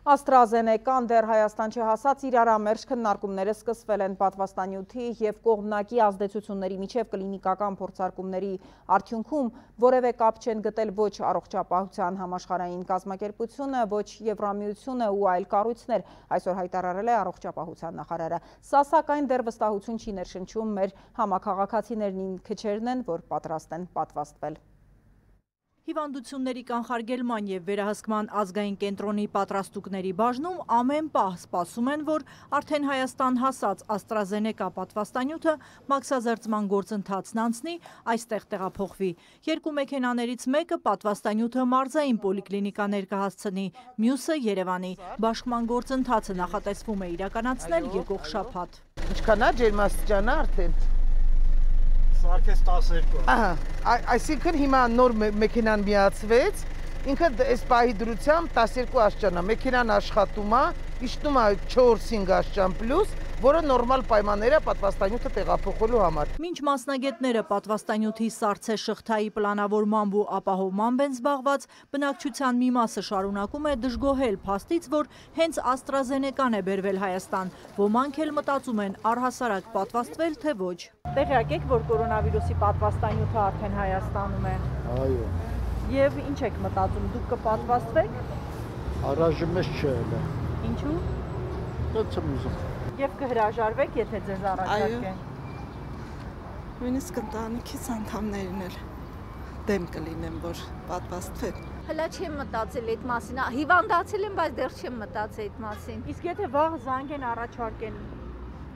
Speaker 13: AstraZeneca-ն դեռ Հայաստան չհասած իրարամերժ քննարկումները սկսվել են պատվաստանյութի և կողմնակի ազդեցությունների միջև կլինիկական փորձարկումների արդյունքում որևէ կապ չեն գտել ոչ առողջապահության համաշխարհային կազմակերպությունը, ոչ Եվրամիությունը ու այլ կառույցներ, այսօր հայտարարել է առողջապահության նախարարը։ Սա սակայն դեռ վստահություն չի ներշնչում մեր համաքաղաքացիներն քչերն են, որ պատրաստ են պատվաստվել։
Speaker 5: Հիվանդությունների կանխարգելման և վերահսկման ազգային կենտրոնի պատրաստուկների բաժնում ամեն պահ սպասում են, որ արդեն Հայաստան հասած AstraZeneca պատվաստանյութը մաքսազերծման գործընթացն անցնի, այստեղ տեղափոխվի։ Երկու մեքենաներից մեկը պատվաստանյութը մարզային պոլիկլինիկա ներկայացնի, մյուսը Երևանի։ Բաշխման գործընթացը նախատեսվում է իրականացնել եկող շաբաթ։
Speaker 7: Ինչքան է ջերմաստիճանը արդեն։
Speaker 12: Սարքես 12։
Speaker 7: Ահա, այսինքն հիմա նոր մեքենան միացվեց, ինքը այս պահի դրությամբ 12 աստիճան է, մեքենան աշխատում է, իջնում է 4-5 աստիճան պլյուս, որը նորմալ պայմանները պատվաստանյութը տեղափոխելու համար։
Speaker 5: Մինչ մասնագետները պատվաստանյութի սառցե շղթայի պլանավորմամբ ու ապահովմամբ են զբաղված, բնակչության մի մասը շարունակում է դժգոհել փաստից, որ հենց AstraZeneca-ն է բերվել Հայաստան։ Ոմանք էլ մտածում են առհասարակ պատվաստվել, թե ոչ։
Speaker 13: Տեղյակ եք, որ կորոնավիրուսի պատվաստանյութը արդեն Հայաստանում է։
Speaker 12: Այո։
Speaker 13: Եվ ինչ եք մտածում, դուք կպատվաստվեք։
Speaker 12: Առայժմ չէ։
Speaker 13: Ինչու։
Speaker 12: Ոնց եմ ուզում։
Speaker 13: Եվ կհրաժարվեք, եթե ձեզ առաջարկեն։
Speaker 9: Նույնիսկ ընտանիքից անդամներն էլ դեմ կլինեմ, որ պատվաստվեն։
Speaker 24: Հլա չեմ մտածել այդ մասին, հիվանդացել եմ, բայց դեռ չեմ մտածել այդ մասին։
Speaker 13: Իսկ եթե վաղ զանգ են առաջարկեն։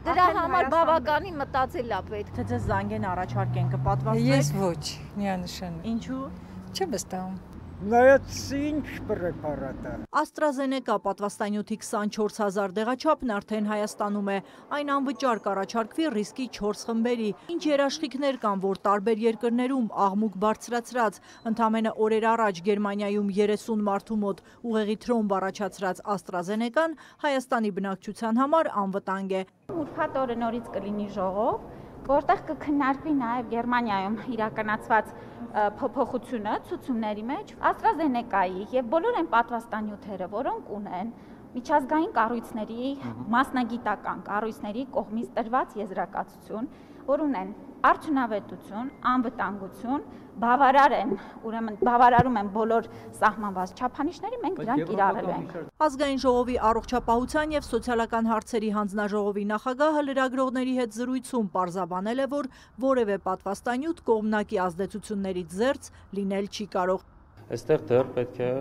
Speaker 24: Դրա համար բավականին մտածել է պետք։
Speaker 13: Թե ձեզ զանգ են առաջարկեն, կպատվաստվեք։
Speaker 9: Ես ոչ, միանշանակ։
Speaker 13: Ինչու։
Speaker 9: Չեմ վստահում։
Speaker 12: Նայած ինչ պրեպարատը։
Speaker 5: AstraZeneca պատվաստանյութի 24000 դեղաչափն արդեն Հայաստանում է։ Այն անվճար կառաջարկվի ռիսկի 4 խմբերի։ Ինչ երաշխիքներ կան, որ տարբեր երկրներում աղմուկ բարձրացրած, ընդամենը օրեր առաջ Գերմանիայում 30 մարդու մոտ ուղեղի թրոմբ առաջացրած AstraZeneca-ն Հայաստանի բնակչության համար անվտանգ է։
Speaker 25: Ուրբաթ օրը նորից կլինի ժողով, որտեղ կքննարկվի նաև Գերմանիայում իրականացված փոփոխությունը ցուցումների մեջ AstraZeneca-ի եւ բոլոր այն պատվաստանյութերը, որոնք ունեն միջազգային կառույցների, մասնագիտական կառույցների կողմից տրված եզրակացություն, որ ունեն արդյունավետություն, անվտանգություն, բավարար են, ուրեմն բավարարում են բոլոր սահմանված չափանիշների, մենք դրանք կիրառել ենք։
Speaker 5: Ազգային ժողովի առողջապահության եւ սոցիալական հարցերի հանձնաժողովի նախագահը լրագրողների հետ զրույցում պարզաբանել է, որ որևէ պատվաստանյութ կողմնակի ազդեցություններից զերծ լինել չի կարող։
Speaker 26: Այստեղ դեռ պետք է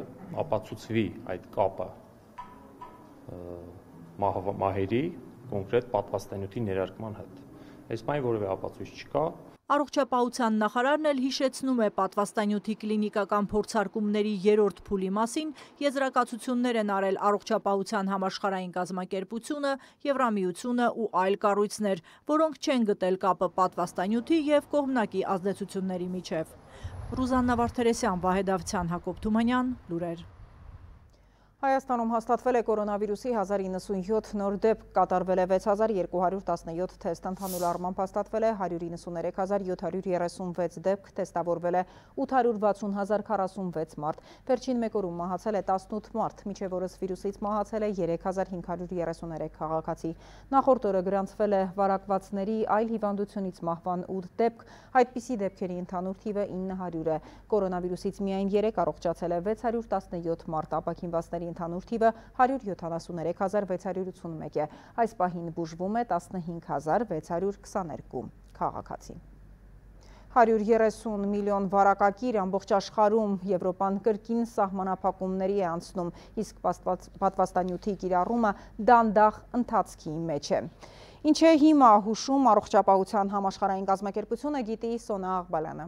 Speaker 26: ապացուցվի այդ կապը մահերի կոնկրետ պատվաստանյութի ներարկման հետ։ Այս բանի որևէ ապացույց չկա։
Speaker 5: Առողջապահության նախարարն էլ հիշեցնում է պատվաստանյութի կլինիկական փորձարկումների 3-րդ փուլի մասին եզրակացություններ են արել առողջապահության համաշխարհային կազմակերպությունը, Եվրամիությունը ու այլ կառույցներ, որոնք չեն գտել կապը պատվաստանյութի եւ կողմնակի ազդեցությունների միջև։ Ռուզաննա Վարդերեսյան, Վահե Դավթյան, Հակոբ Թումանյան, լուրեր։
Speaker 13: Հայաստանում հաստատվել է կորոնավիրուսի 1097 նոր դեպք, կատարվել է 6217 թեստ, ընդհանուր առմամբ հաստատվել է 193736 դեպք, թեստավորվել է 860046 մարդ, վերջին մեկ օրում մահացել է 18 մարդ, մինչև օրս վիրուսից մահացել է 3533 քաղաքացի, նախորդ օրը գրանցվել է վարակվածների այլ հիվանդությունից մահվան 8 դեպք, այդպիսի դեպքերի ընդհանուր թիվը 900 է, կորոնավիրուսից միայն 3 առողջացել է 617 մարդ, ապաքինվածների ընդհանուր թիվը 173681 է, այս պահին բուժվում է 15622 քաղաքացի։ 130 միլիոն վարակակիր ամբողջ աշխարհում Եվրոպան կրկին սահմանափակումների է անցնում, իսկ պատվաստանյութի կիրառումը դանդաղ ընթացքի մեջ է։ Ինչ է հիմա հուշում առողջապահության համաշխարհային կազմակերպությունը, գիտի Սոնա Աղբալյանը։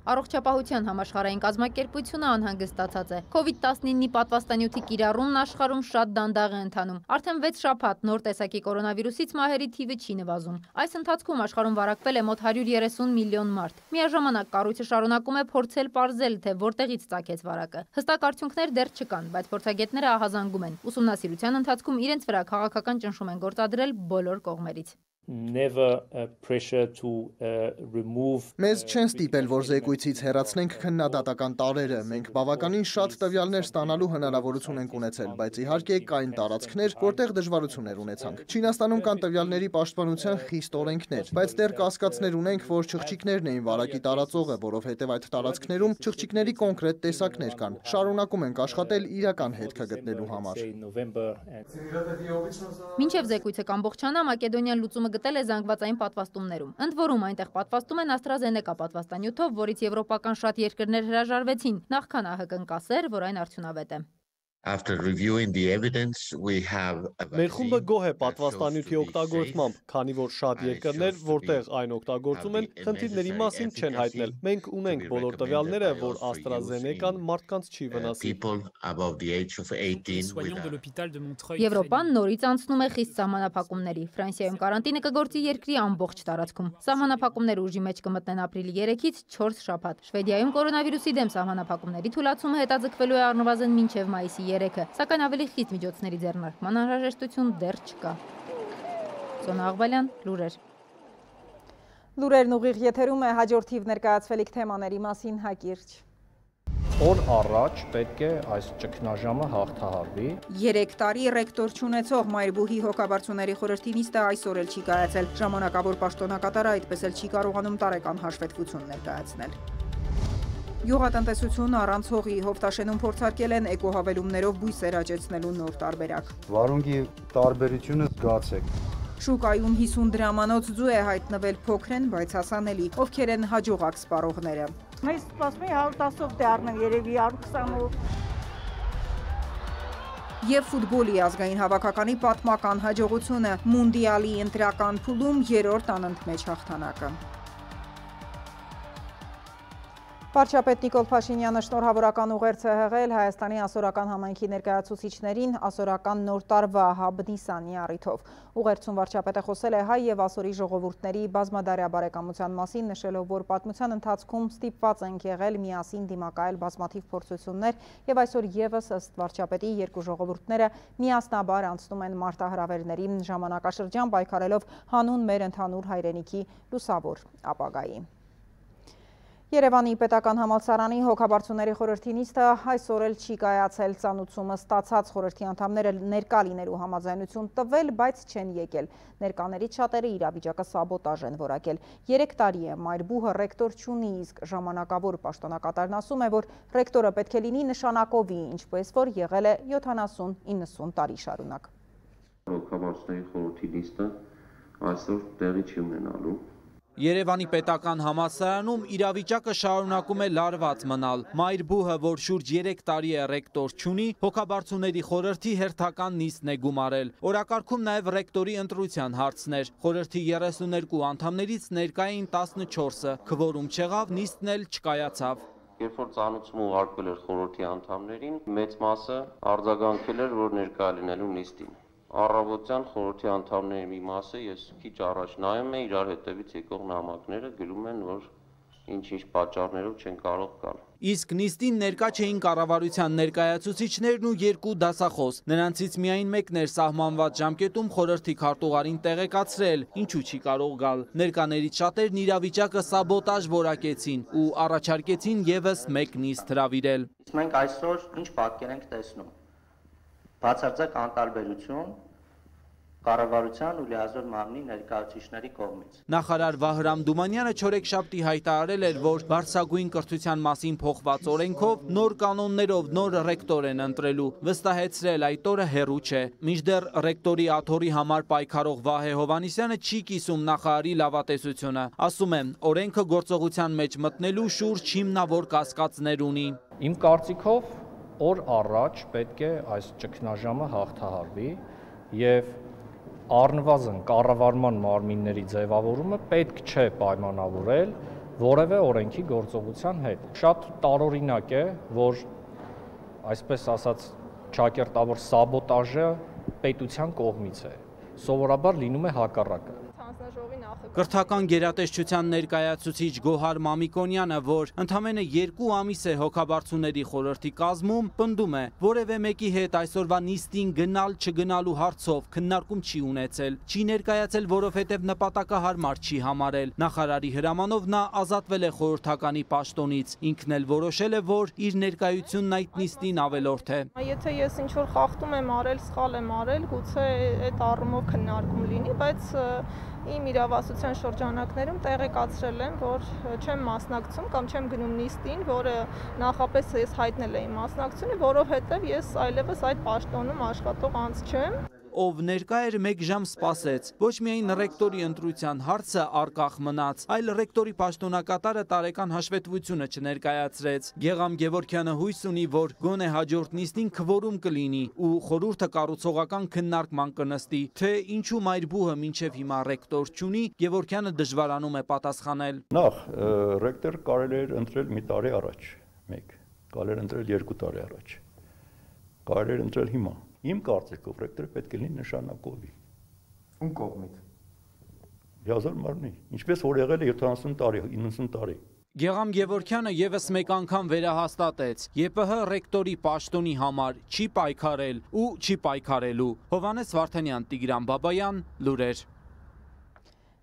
Speaker 27: Առողջապահության համաշխարհային կազմակերպությունը անհանգստացած է։ COVID-19-ի պատվաստանյութի կիրառումն աշխարհում շատ դանդաղ է ընթանում։ Արդեն 6 շաբաթ նոր տեսակի կորոնավիրուսից մահերի թիվը չի նվազում։ Այս ընթացքում աշխարհում վարակվել է մոտ 130 միլիոն մարդ։ Միաժամանակ կառույցը շարունակում է փորձել պարզել, թե որտեղից ծագեց վարակը։ Հստակ արդյունքներ դեռ չկան, բայց փորձագետները ահազանգում են։ Ուսումնասիրության ընթացքում իրենց վրա քաղաքական ճնշում են գործադրել բոլոր կողմերից։
Speaker 1: Մեզ չեն ստիպել, որ զեկույցից հեռացնենք քննադատական տարրերը, մենք բավականին շատ տվյալներ ստանալու հնարավորություն ենք ունեցել, բայց իհարկե կային տարածքներ, որտեղ դժվարություններ ունեցանք։ Չինաստանում կան տվյալների պաշտպանության խիստ օրենքներ, բայց դեռ կասկածներ ունենք, որ չղջիկներն էին վարակի տարածողը, որովհետև այդ տարածքներում չղջիկների կոնկրետ տեսակներ կան։ Շարունակում ենք աշխատել իրական հետքը գտնելու համար։
Speaker 27: Մինչև զեկույցը կամբողջանա, Մակեդոնիան լուծումը գտել է զանգվածային պատվաստումներում։ Ընդ որում այնտեղ պատվաստում են AstraZeneca պատվաստանյութով, որից եվրոպական շատ երկրներ հրաժարվեցին, նախքան ԱՀԿ-ն կասեր, որ այն արդյունավետ է։
Speaker 14: Մեր խումբը գոհ է պատվաստանյութի օգտագործմամբ, քանի որ շատ երկրներ, որտեղ այն օգտագործում են, խնդիրների մասին չեն հայտնել։ Մենք ունենք բոլոր տվյալները, որ AstraZeneca-ն մարդկանց չի վնասի։
Speaker 27: Եվրոպան նորից անցնում է խիստ սահմանափակումների։ Ֆրանսիայում կարանտինը կգործի երկրի ամբողջ տարածքում։ Սահմանափակումները ուժի մեջ կմտնեն ապրիլի 3-ից 4 շաբաթ։ Շվեդիայում կորոնավիրուսի դեմ սահմանափակումների թույլատումը հետաձգվելու է առնվազն մինչև մայիսի 3-ը, սակայն ավելի խիստ միջոցների ձեռնարկման անհրաժեշտություն դեռ չկա։ Սոնա Աղբալյան, լուրեր։
Speaker 13: Լուրերն ուղիղ եթերում է, հաջորդ թիվ ներկայացվելիք թեմաների մասին հակիրճ։
Speaker 6: Օր առաջ պետք է այս ճգնաժամը հաղթահարվի։
Speaker 13: 3 տարի ռեկտոր չունեցող Մայրբուհի հոգաբարձուների խորհրդի նիստը այսօր էլ չի կայացել։ Ժամանակավոր պաշտոնակատարը այդպես էլ չի կարողանում տարեկան հաշվետվություն ներկայացնել։ Գյուղատնտեսություն առանց հողի Հովտաշենում փորձարկել են էկոհավելումներով բույսեր աճեցնելու նոր տարբերակ։
Speaker 6: Վարունգի տարբերությունը զգացեք։
Speaker 13: Շուկայում 50 դրամանոց ձու է հայտնվել, փոքր են, բայց հասանելի։ Ովքեր են հաջողակ սպառողները։
Speaker 10: Մեզ սպասում է 110-ով դե առնեմ, երևի 120-ով։
Speaker 13: Եվ ֆուտբոլի ազգային հավաքականի պատմական հաջողությունը մունդիալի ընտրական փուլում 3-րդ անընդմեջ հաղթանակը։ Վարչապետ Նիկոլ Փաշինյանը շնորհավորական ուղերձ է հղել Հայաստանի ասորական համայնքի ներկայացուցիչներին ասորական նոր տարվա Հաբ Նիսանի առիթով։ Ուղերձում վարչապետը խոսել է հայ եւ ասորի ժողովուրդների բազմադարյա բարեկամության մասին, նշելով, որ պատմության ընթացքում ստիպված ենք եղել միասին դիմակայել բազմաթիվ փորձություններ եւ այսօր եւս ըստ վարչապետի երկու ժողովուրդները միասնաբար անցնում են մարտահրավերների ժամանակաշրջան պայքարելով հանուն մեր ընդհանուր հայրենիքի լուսավոր ապագայի։ Երևանի պետական համալսարանի հոգաբարձուների խորհրդի նիստը այսօր էլ չի կայացել, ծանուցումը ստացած խորհրդի անդամները ներկա լինելու համաձայնություն տվել, բայց չեն եկել։ Ներկաներից շատերը իրավիճակը սաբոտաժ են որակել։ 3 տարի է Մայրբուհը ռեկտոր չունի, իսկ ժամանակավոր պաշտոնակատարն ասում է, որ ռեկտորը պետք է լինի նշանակովի, ինչպես որ եղել է 70-90 տարի շարունակ։
Speaker 11: Հոգաբարձուների խորհրդի նիստը այսօր տեղի չի ունենալու։
Speaker 22: Երևանի պետական համալսարանում իրավիճակը շարունակում է լարված մնալ։ Մայրբուհը, որ շուրջ 3 տարի է ռեկտոր չունի, հոգաբարձուների խորհրդի հերթական նիստն է գումարել։ Օրակարգում նաև ռեկտորի ընտրության հարցներ։ Խորհրդի 32 անդամներից ներկա էին 14-ը, քվորում չեղավ, նիստն էլ չկայացավ։
Speaker 11: Երբ որ ծանուցումը ուղարկվել էր խորհրդի անդամներին, մեծ մասը արձագանքել էր, որ ներկա լինելու նիստին։ Առավոտյան խորհրդի անդամների մի մասը ես քիչ առաջ նայում եմ իրար հետևից եկող նամակները գրում են, որ ինչ-ինչ պատճառներով չեն կարող գալ։
Speaker 22: Իսկ նիստին ներկա չէին կառավարության ներկայացուցիչներն ու 2 դասախոս։ Նրանցից միայն մեկն էր սահմանված ժամկետում խորհրդի քարտուղարին տեղեկացրել, ինչու չի կարող գալ։ Ներկաներից շատերն իրավիճակը սաբոտաժ որակեցին ու առաջարկեցին եւս մեկ նիստ հրավիրել։
Speaker 15: Մենք այսօր ինչ պատկեր ենք տեսնում։ Բացարձակ անտարբերություն կառավարության ու լիազոր մարմնի ներկայացուցիչների կողմից։
Speaker 22: Նախարար Վահրամ Դումանյանը չորեքշաբթի հայտարարել էր, որ բարձրագույն կրթության մասին փոխված օրենքով նոր կանոններով նոր ռեկտոր են ընտրելու, վստահեցրել այդ օրը հեռու չէ։ Մինչդեռ ռեկտորի աթոռի համար պայքարող Վահե Հովհաննիսյանը չի կիսում նախարարի լավատեսությունը։ Ասում է, օրենքը գործողության մեջ մտնելու շուրջ հիմնավոր կասկածներ ունի։
Speaker 6: Իմ կարծիքով օր առաջ պետք է այս ճգնաժամը հաղթահարվի եւ առնվազն կառավարման մարմինների ձևավորումը պետք չէ պայմանավորել որևէ օրենքի գործողության հետ։ Շատ տարօրինակ է, որ այսպես ասած ճակերտավոր սաբոտաժը պետության կողմից է։ Սովորաբար լինում է հակառակը։
Speaker 16: Հանձնաժողովի
Speaker 22: Կրթական գերատեսչության ներկայացուցիչ Գոհար Մամիկոնյանը, որ ընդամենը 2 ամիս է հոգաբարձուների խորհրդի կազմում, պնդում է, որևէ մեկի հետ այսօրվա նիստին գնալ չգնալու հարցով քննարկում չի ունեցել, չի ներկայացել, որովհետև նպատակահարմար չի համարել։ Նախարարի հրամանով նա ազատվել է խորհրդականի պաշտոնից, ինքն էլ որոշել է, որ իր ներկայությունն այդ նիստին ավելորդ է։
Speaker 3: Եթե ես ինչ-որ խախտում եմ արել, սխալ եմ արել, գուցե այդ առումով քննարկում լինի, բայց իմ իրավասության շրջանակներում տեղեկացրել եմ, որ չեմ մասնակցում կամ չեմ գնում նիստին, որը նախապես ես հայտնել էի մասնակցությունը, որովհետև ես այլևս այդ պաշտոնում աշխատող անձ չեմ։
Speaker 22: Ով ներկա էր 1 ժամ սպասեց, ոչ միայն ռեկտորի ընտրության հարցը արկախ մնաց, այլ ռեկտորի պաշտոնակատարը տարեկան հաշվետվությունը չներկայացրեց։ Գեգամ Գևորգյանը հույս ունի, որ գոնե հաջորդ նիստին քվորում կլինի ու խորհուրդը կառուցողական քննարկման կնստի, թե ինչու մայրբուհը մինչև հիմա ռեկտոր չունի, Գևորգյանը դժվարանում է պատասխանել։
Speaker 8: Նախ ռեկտոր կարելի էր ընտրել մի տարի առաջ, կարելի էր ընտրել 2 տարի առաջ, կարելի էր ընտրել հիմա։ Իմ կարծիքով ռեկտորը պետք է լինի նշանակովի։ Ում կողմից։ Հազար մարմնի, ինչպես որ եղել է 70 տարի, 90 տարի։
Speaker 22: Գեգամ Գևորգյանը եւս մեկ անգամ վերահաստատեց. ԵՊՀ ռեկտորի պաշտոնի համար չի պայքարել ու չի պայքարելու։ Հովհաննես Վարդանյան, Տիգրան Բաբայան, լուրեր։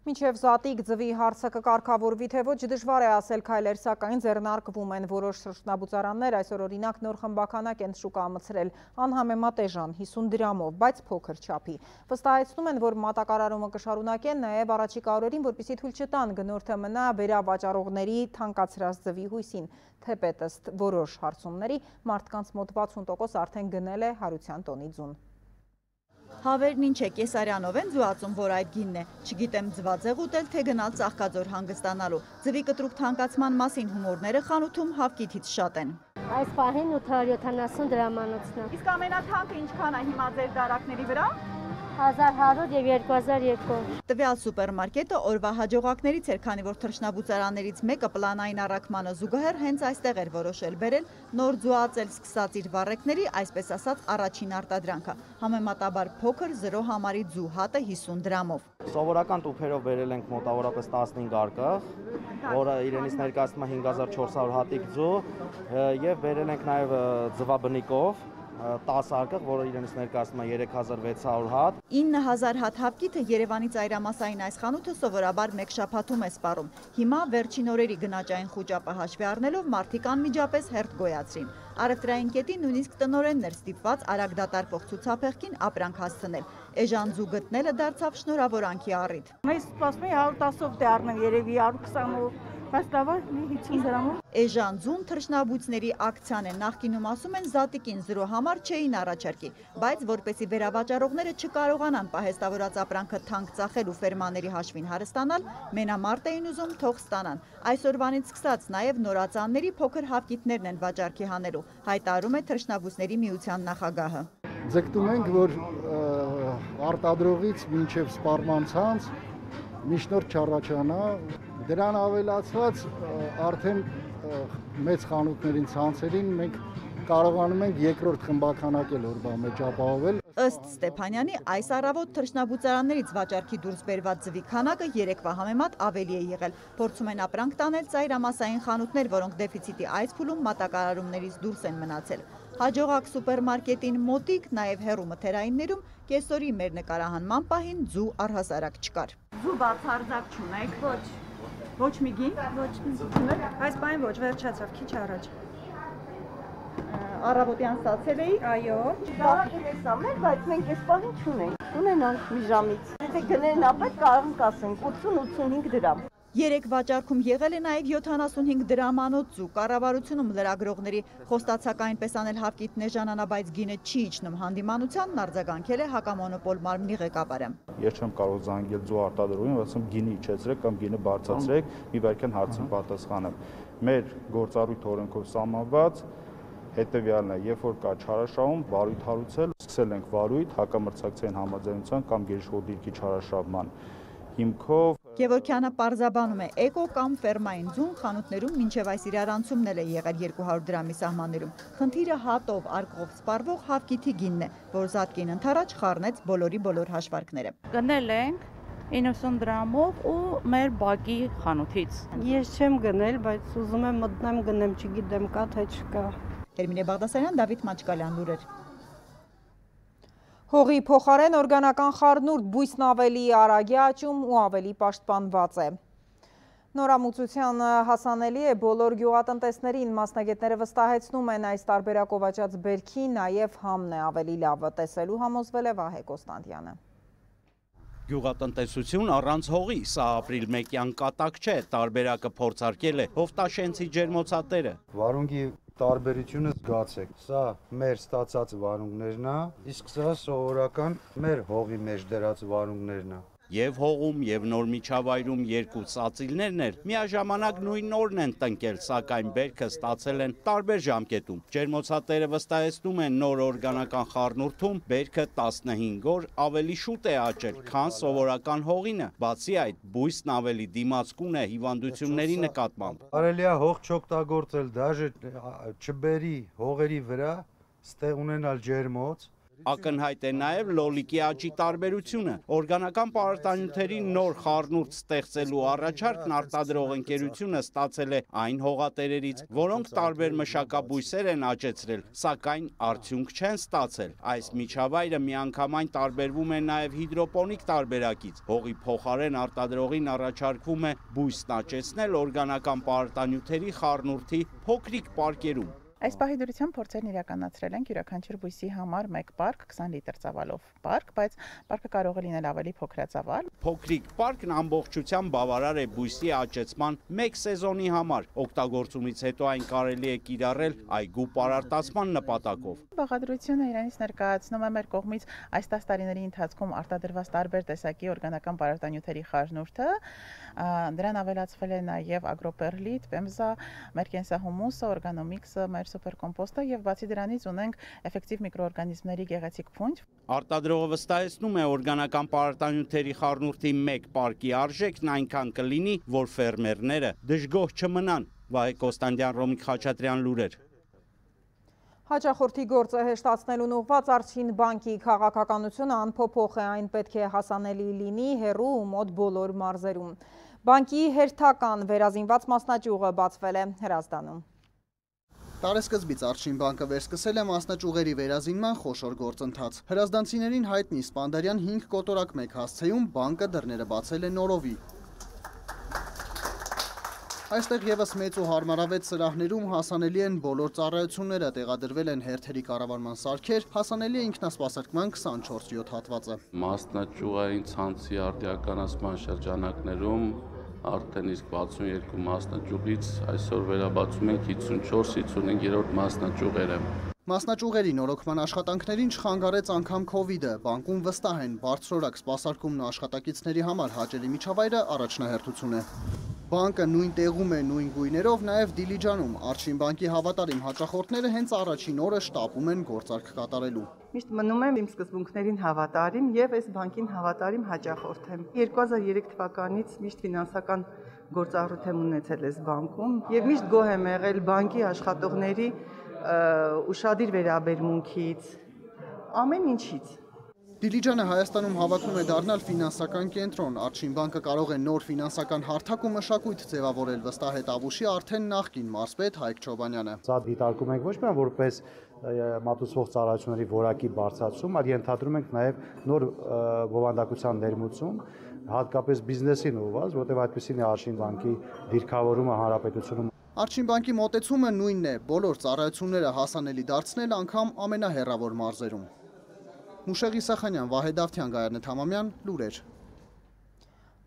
Speaker 13: Մինչև Զատիկ ձվի հարցը կկարգավորվի, թե ոչ դժվար է ասել քայլեր, սակայն ձեռնարկվում են որոշ շրջանաբուծարաններ, այսօր օրինակ նոր խմբականակ են շուկա մտցրել անհամեմատ էժան 50 դրամով, բայց փոքր չափի։ Վստահեցնում են, որ մատակարարումը կշարունակեն նաև առաջիկա օրերին, որպեսզի թույլ չտան գնորդը մնա վերավաճառողների թանկացրած ձվի հույսին, թեպետ ըստ որոշ հարցումների մարդկանց մոտ 60% արդեն գնել է հարության տոնի ձուն։
Speaker 16: Հավերն ինչ է, Կեսարյանով են զուացում, որ այդ գինն է, չգիտեմ ձվածեղ ուտել, թե գնալ Ծաղկաձոր հանգստանալու։ Ձվի կտրուկ թանկացման մասին հումորները խանութում հավքիթից շատ են։
Speaker 17: Այս պահին 870 դրամանոցն է։
Speaker 16: Իսկ ամենաթանկը ինչքան է հիմա ձեր դարակների վրա։
Speaker 17: 1100 եւ 2200։
Speaker 16: Տվյալ սուպերմարկետը օրվա հաջողակներից էր, քանի որ թռչնաբուծարաններից մեկը պլանային առաքմանը զուգահեռ հենց այստեղ էր որոշել բերել նոր ձուածել սկսած իր վառեկների, այսպես ասած, առաջին արտադրանքը։ Համեմատաբար փոքր 0 համարի ձու հատը 50 դրամով։
Speaker 19: Սովորական տուփերով բերել ենք մոտավորապես 15 արկղ, որը իրենից ներկայացնում է 5400 հատիկ ձու, եւ բերել ենք նաեւ ձվաբնիկով 10 արկղ, որը իրենից ներկայացնում է 3600 հատ։
Speaker 16: 9000 հատ հավքիթը Երևանի ծայրամասային այս խանութը սովորաբար մեկ շաբաթում է սպառում։ Հիմա վերջին օրերի գնաճային խուճապը հաշվի առնելով մարդիկ անմիջապես հերթ գոյացրին։ Առևտրային կետի նույնիսկ տնօրեններ ստիպված արագ դատարկվող ցուցափեղկին ապրանք հասցնել։ Էժան ձու գտնելը դարձավ շնորհավորանքի առիթ։
Speaker 10: Մեզ սպասում է 110-ով դե առնեմ երևի 120-ով։ Բայց լավ է, մի 50 դրամով։
Speaker 16: Էժան ձուն թռչնաբույծների ակցիան է, նախկինում ասում են Զատիկին 0 համար չէին առաջարկի, բայց որպեսի վերավաճառողները չկարողանան պահեստավորած ապրանքը թանկ ծախել ու ֆերմաների հաշվին հարստանալ, մենամարտ էին ուզում թող ստանան։ Այսօրվանից սկսած նաև նորածանների փոքր հավքիթներն են վաճառքի հանելու, հայտարարում է թռչնաբույծների միության նախագահը։
Speaker 20: Ձգտում ենք, որ արտադրողից մինչև սպառման ցանց միջնորդ չառաջանա, դրան ավելացված արդեն մեծ խանութներին ցանցերին մենք կարողանում ենք երկրորդ խմբականակ էլ օրվա մեջ ապահովել։
Speaker 16: Ըստ Ստեփանյանի, այս առավոտ թռչնաբուծարաններից վաճառքի դուրս բերված ձվի քանակը երեկվա համեմատ ավելի է եղել։ Փորձում են ապրանք տանել ծայրամասային խանութներ, որոնք դեֆիցիտի այս փուլում մատակարարումներից դուրս են մնացել։ Հաջողակ սուպերմարկետին մոտիկ, նաև հեռու մթերայիններում կեսօրի մեր նկարահանման պահին ձու առհասարակ չկար։ Ձու բացարձակ չունեք։
Speaker 17: Ոչ։
Speaker 16: Ոչ մի գին։
Speaker 17: Ոչ մի գին։
Speaker 16: Այս պահին ոչ, վերջացավ, քիչ առաջ։ Առավոտյան ստացել էի։
Speaker 17: Այո։
Speaker 16: Դարակն է սամել, բայց մենք այս պահին չունենք։ Ունենանք մի ժամից։ Եթե գներն ապետ կարող կասենք 80-85 դրամ։ Երեք վաճառքում եղել է նաև 75 դրամանոց ձու։ Կառավարությունում լրագրողների խոստացակային պես անել հավքիթն էժանանա, բայց գինը չի իջնում հանդիմանությանն արձագանքել է հակամոնոպոլ մարմնի ղեկավարը։
Speaker 21: Ես չեմ կարող զանգել ձու արտադրողին, ասեմ գինը իջեցրեք կամ գինը բարձրացրեք, մի վայրկյան հարցին պատասխանեմ։ Մեր գործառույթ օրենքով սահմանված հետևյալն է, երբ որ կա չարաշահում, վարույթ հարուցել, սկսել ենք վարույթ հակամրցակցային համաձայնության կամ գերիշխող դիրքի չարաշահման հիմքով։
Speaker 16: Գևորգյանը պարզաբանում է, էկո կամ ֆերմային ձուն խանութներում մինչև այս իրարանցումն էլ է եղել 200 դրամի սահմաններում։ Խնդիրը հատով արկղով սպառվող հավքիթի գինն է, որ Զատկին ընդառաջ խառնեց բոլորի բոլոր հաշվարկները։
Speaker 17: Գնել ենք,
Speaker 10: 90 դրամով ու մեր բակի խանութից։
Speaker 2: Ես չեմ գնել, բայց ուզում եմ մտնեմ գնեմ, չգիտեմ կա թե չկա։
Speaker 16: Էրմինե Բաղդասարյան, Դավիթ Մաչկալյան, լուրեր։
Speaker 13: Հողի փոխարեն օրգանական խառնուրդ բույսն ավելի արագ է աճում ու ավելի պաշտպանված է։ Նորամուծության հասանելի է բոլոր գյուղատնտեսներին, մասնագետները վստահեցնում են այս տարբերակով աճած բերքի նաև համն է ավելի լավը, տեսելու համոզվել է Վահե Կոստանդյանը։
Speaker 22: Գյուղատնտեսություն առանց հողի, սա ապրիլ մեկյան կատակ չէ, տարբերակը փորձարկել է Հովտաշենցի ջերմոցատերը։
Speaker 4: Վարունգի տարբերությունը զգացեք, սա մեր ստացած վարունգներն է, իսկ սա սովորական մեր հողի մեջ դրած վարունգներն է։
Speaker 22: Եվ հողում, եւ նոր միջավայրում երկու ծածիլներն էր, միաժամանակ նույն օրն են տնկել, սակայն բերքը ստացել են տարբեր ժամկետում։ Ջերմոցատերը վստահեցնում են նոր օրգանական խառնուրդում բերքը 15 օր ավելի շուտ է աճել, քան սովորական հողինը։ Բացի այդ, բույսն ավելի դիմացկուն է հիվանդությունների նկատմամբ։
Speaker 4: Կարելի է հող չօգտագործել, դաժե չբերի հողերի վրա, ստեղ ունենալ ջերմոց։
Speaker 22: Ակնհայտ է նաև լոլիկի աճի տարբերությունը։ Օրգանական պարարտանյութերի նոր խառնուրդ ստեղծելու առաջարկն արտադրող ընկերությունը ստացել է այն հողատերերից, որոնք տարբեր մշակաբույսեր են աճեցրել, սակայն արդյունք չեն ստացել։ Այս միջավայրը միանգամայն տարբերվում է նաև հիդրոպոնիկ տարբերակից։ Հողի փոխարեն արտադրողին առաջարկվում է բույսն աճեցնել օրգանական պարարտանյութերի խառնուրդի փոքրիկ պարկերում։
Speaker 7: Այս պահի դրությամբ փորձերն իրականացրել ենք յուրաքանչյուր բույսի համար 1 պարկ 20 լիտր ծավալով պարկ, բայց պարկը կարող է լինել ավելի փոքրածավալ։
Speaker 22: Փոքրիկ պարկն ամբողջությամբ բավարար է բույսի աճեցման 1 սեզոնի համար։ Օգտագործումից հետո այն կարելի է կիրառել այգու պարարտացման նպատակով։
Speaker 7: Բաղադրությունը իրենից ներկայացնում է մեր կողմից այս 10 տարիների ընթացքում արտադրված տարբեր տեսակի օրգանական պարարտանյութերի խառնուրդը, դրան ավելացվել է նաև ագրոպերլիտ, պեմզա, մեր կենսահումուսը, օրգանոմիքսը, մեր սուպերկոմպոստը եւ բացի դրանից ունենք էֆեկտիվ միկրոօրգանիզմների գեղեցիկ փունջ։
Speaker 22: Արտադրողը վստահեցնում է օրգանական պարարտանյութերի խառնուրդի 1 պարկի արժեքն այնքան կլինի, որ ֆերմերները դժգոհ չմնան։ Վահե Կոստանդյան, Ռոմիկ Խաչատրյան, լուրեր։
Speaker 13: Հաճախորդի գործը հեշտացնելուն ուղղված Առաջին բանկի քաղաքականությունը անփոփոխ է, այն պետք է հասանելի լինի հեռու ու մոտ բոլոր մարզերում։ Բանկի հերթական վերազինված մասնաճյուղը բացվել է Հրազդանում։
Speaker 1: Տարեսկզբից Առաջին բանկը վերսկսել է մասնաճյուղերի վերազինման խոշոր գործընթաց։ Հրազդանցիներին հայտնի Սպանդարյան 5 կոտորակ 1 հասցեում բանկը դռները բացել է նորովի։ Այստեղ ևս մեծ ու հարմարավետ սրահներում հասանելի են բոլոր ծառայությունները, տեղադրվել են հերթերի կառավարման սարքեր, հասանելի է ինքնասպասարկման 24/7 հատվածը։
Speaker 9: Մասնաճյուղային ցանցի արդիականացման շրջանակներում արդեն իսկ 62 մասնաճյուղից այսօր վերաբացում ենք 54-55-րդ մասնաճյուղերը։
Speaker 1: Մասնաճյուղերի նորոգման աշխատանքներին չխանգարեց անգամ Քովիդը, բանկում վստահ են բարձրորակ սպասարկումն ու աշխատակիցների համար հաճելի միջավայրը առաջնահերթություն է։ Բանկը նույն տեղում է, նույն գույներով, նաև Դիլիջանում։ Առաջին բանկի հավատարիմ հաճախորդները հենց առաջին օրը շտապում են գործարք կատարելու։
Speaker 18: Միշտ մնում եմ իմ սկզբունքներին հավատարիմ եւ այս բանկին հավատարիմ հաճախորդ եմ։ 2003 թվականից միշտ ֆինանսական գործառույթ եմ ունեցել այս բանկում եւ միշտ գոհ եմ եղել բանկի աշխատողների ուշադիր վերաբերմունքից, ամեն ինչից։
Speaker 1: Դիլիջանը Հայաստանում հավակնում է դառնալ ֆինանսական կենտրոն։ Առաջին բանկը կարող է նոր ֆինանսական հարթակ ու մշակույթ ձևավորել, վստահ է Տավուշի արդեն նախկին մարզպետ Հայկ Չոբանյանը։
Speaker 19: Սա դիտարկում ենք ոչ միայն որպես մատուցվող ծառայությունների որակի բարձրացում, այլ ենթադրում ենք նաև նոր բովանդակության ներմուծում, հատկապես բիզնեսին ուղղված, որտեղ այդպեսին է Առաջին բանկի դիրքավորումը հանրապետությունում։
Speaker 1: Առաջին բանկի մոտեցումը նույնն է՝ բոլոր ծառայությունները հասանելի դարձնել անգամ ամենահեռավոր մարզերում։ Մուշեղ Իսախանյան, Վահե Դավթյան, Գայանե Թամամյան, լուրեր։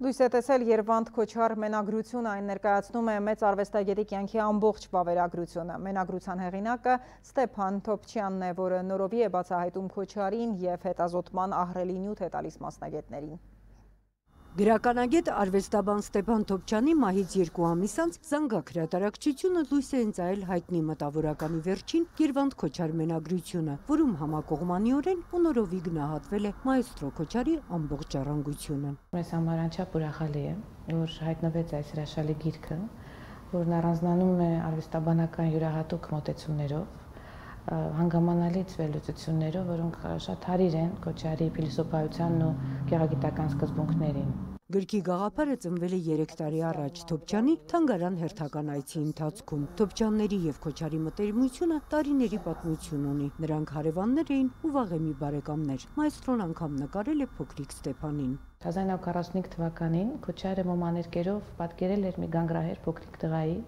Speaker 13: Լույս է տեսել Երվանդ Քոչար մենագրությունը, այն ներկայացնում է մեծ արվեստագետի կյանքի ամբողջ վավերագրությունը։ Մենագրության հեղինակը Ստեփան Թոփչյանն է, որը նորովի է բացահայտում Քոչարին և հետազոտման ահռելի նյութ է տալիս մասնագետներին։
Speaker 23: Գրականագետ արվեստաբան Ստեփան Թոփչյանի մահից 2 ամիս անց Զանգակ հրատարակչությունը լույս է ընծայել հայտնի մտավորականի վերջին Երվանդ Քոչար մենագրությունը, որում համակողմանիորեն ու նորովի գնահատվել է մայստրո Քոչարի ամբողջ ժառանգությունը։
Speaker 24: Մեզ համար անչափ ուրախալի է, որ հայտնվեց այս հրաշալի գիրքը, որն առանձնանում է արվեստաբանական յուրահատուկ մոտեցումներով, հանգամանալից վերլուծություններով, որոնք շատ հարիր են Քոչարի փիլիսոփայությանն ու գեղագիտական սկզբունքներին։
Speaker 23: Գրքի գաղափարը ծնվել է 3 տարի առաջ Թոփչյանի թանգարան հերթական այցի ընթացքում։ Թոփչյանների եւ Քոչարի մտերմությունը տարիների պատմություն ունի։ Նրանք հարևաններ էին ու վաղեմի բարեկամներ։ Մայստրոն անգամ նկարել է փոքրիկ Ստեփանին։
Speaker 24: 1945 թվականին Քոչարը մոմաներկերով պատկերել էր մի գանգրահեր փոքրիկ տղայի,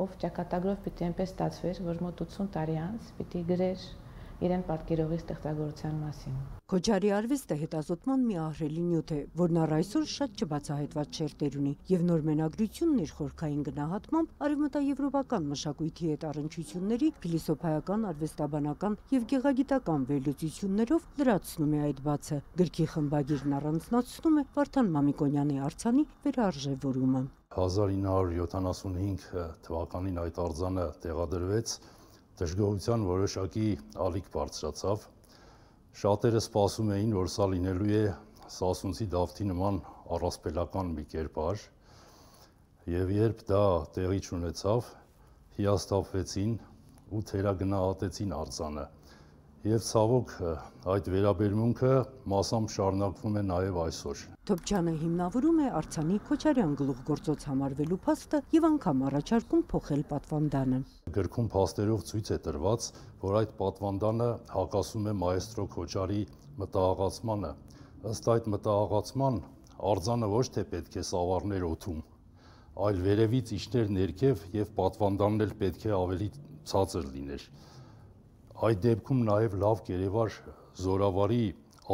Speaker 24: ով ճակատագրով պիտի այնպես ստացվեր, որ մոտ 80 տարի անց պիտի գրեր իրեն պատկերողի ստեղծագործության մասին։
Speaker 23: Քոչարի արվեստը հետազոտման մի ահռելի նյութ է, որն առ այսօր շատ չբացահայտված շերտեր ունի, եւ նոր մենագրությունն իր խորքային գնահատմամբ արևմտաեվրոպական մշակույթի հետ առնչությունների, փիլիսոփայական, արվեստաբանական եւ գեղագիտական վերլուծություններով լրացնում է այդ բացը։ Գրքի խմբագիրն առանձնացնում է Վարդան Մամիկոնյանի արձանի վերարժևորումը։
Speaker 5: 1975 թվականին այդ արձանը տեղադրվեց, դժգոհության որոշակի ալիք բարձրացավ։ Շատերը սպասում էին, որ սա լինելու է Սասունցի Դավթի նման առասպելական մի կերպար, եւ երբ դա տեղի չունեցավ, հիասթափվեցին ու թերագնահատեցին արձանը։ Եվ ցավոք այդ վերաբերմունքը մասամբ շարունակվում է նաև այսօր։
Speaker 23: Թոփչյանը հիմնավորում է արձանի Քոչարյան գլուխգործոց համարվելու փաստը եւ անգամ առաջարկում փոխել պատվանդանը։
Speaker 5: Գրքում փաստերով ցույց է տրված, որ այդ պատվանդանը հակասում է մայստրո Քոչարի մտահղացմանը։ Ըստ այդ մտահղացման արձանը ոչ թե պետք է սավառներ օդում, այլ վերևից իջներ ներքև եւ պատվանդանն էլ պետք է ավելի ցածր լիներ։ Այդ դեպքում նաև լավ կերևար զորավարի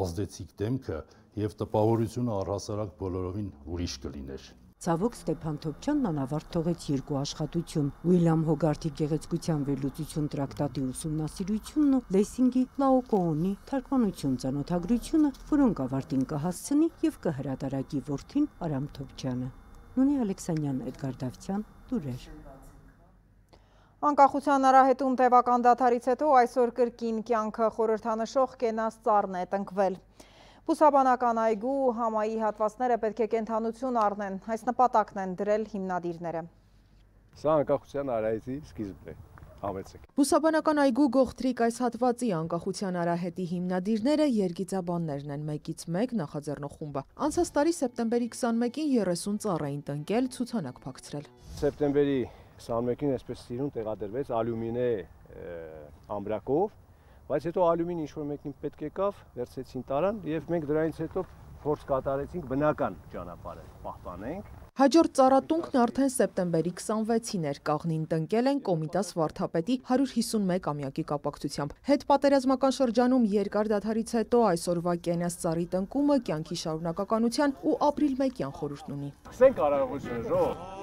Speaker 5: ազդեցիկ դեմքը եւ տպավորությունը առհասարակ բոլորովին ուրիշ կլիներ։
Speaker 23: Ցավոք Ստեփան Թոփչյանն անավարտ թողեց 2 աշխատություն՝ Ուիլյամ Հոգարթի գեղեցկության վերլուծություն տրակտատի ուսումնասիրությունն ու Լեսինգի Լաոկոոնի թարգմանություն ծանոթագրությունը, որոնք ավարտին կհասցնի եւ կհրատարակի որդին Արամ Թոփչյանը։ Նունի Ալեքսանյան, Էդգար Դավթյան, Լուրեր։
Speaker 13: Անկախության արահետում տևական դադարից հետո այսօր կրկին կյանքը խորհրդանշող կենաց ծառն է տնկվել։ Բուսաբանական այգու համայի հատվածները պետք է կենդանություն առնեն, այս նպատակն են դրել հիմնադիրները։
Speaker 11: Սա անկախության արահետի սկիզբն է, համեցեք։
Speaker 12: Բուսաբանական այգու Գողտրիկ այս հատվածի անկախության արահետի հիմնադիրները երգիծաբաններն են, 1-ից 1 նախաձեռնող խումբը։ Անցած տարի սեպտեմբերի 21-ին 30 ծառ էին տնկել, ցուցանակ փակցրել։
Speaker 11: Սեպտեմբերի 21-ին այսպես սիրուն տեղադրվեց ալյումինե ամբրակով, բայց հետո ալյումին ինչ-որ մեկին պետք եկավ, վերցեցին տարան եւ մենք դրանից հետո փորձ կատարեցինք բնական ճանապարհը պահպանենք։
Speaker 12: Հաջորդ ծառատունքն արդեն սեպտեմբերի 26-ին էր, կաղնին տնկել են Կոմիտաս վարդապետի 151-ամյակի կապակցությամբ։ Հետպատերազմական շրջանում երկար դադարից հետո այսօրվա կենաց ծառի տնկումը կյանքի շարունակականության ու ապրիլմեկյան խորհուրդն ունի։
Speaker 11: Սենք արարողությունը ժող։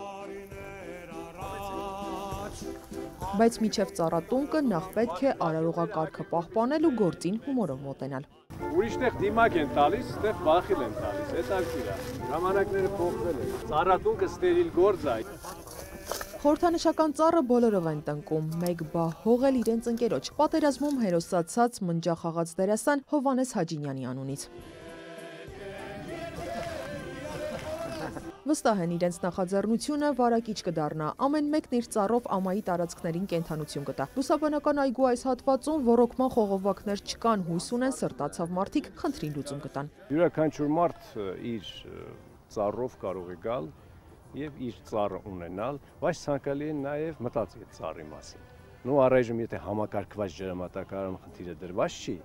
Speaker 12: Բայց միջև ծառատունկը նախ պետք է արարողակարգը պահպանել ու գործին հումորով մոտենալ։
Speaker 11: Ուրիշտեղ դիմակ են տալիս, այդտեղ բախիլ են տալիս, հետաքրքիր է։ Ժամանակները փոխվել են։ Ծառատունկը ստերիլ գործ է։
Speaker 12: Խորհրդանշական ծառը բոլորով են տնկում, մեկ բա հողել իրենց ընկերոջ, պատերազմում հերոսացած մնջախաղաց դերասան Հովանես Հաջինյանի անունից։ Վստահ են իրենց նախաձեռնությունը վարակիչ կդառնա, ամեն մեկն իր ծառով ամայի տարածքներին կենդանություն կտա։ Բուսաբանական այգու այս հատվածում ոռոգման խողովակներ չկան, հույս ունեն սրտացավ մարդիկ խնդրին լուծում կտան։
Speaker 11: Յուրաքանչյուր մարդ իր ծառով կարող է գալ եւ իր ծառը ունենալ, բայց ցանկալի է նաեւ մտածել ծառի մասին։ Նու առայժմ եթե համակարգված ջրամատակարարում խնդիրը դրված չի,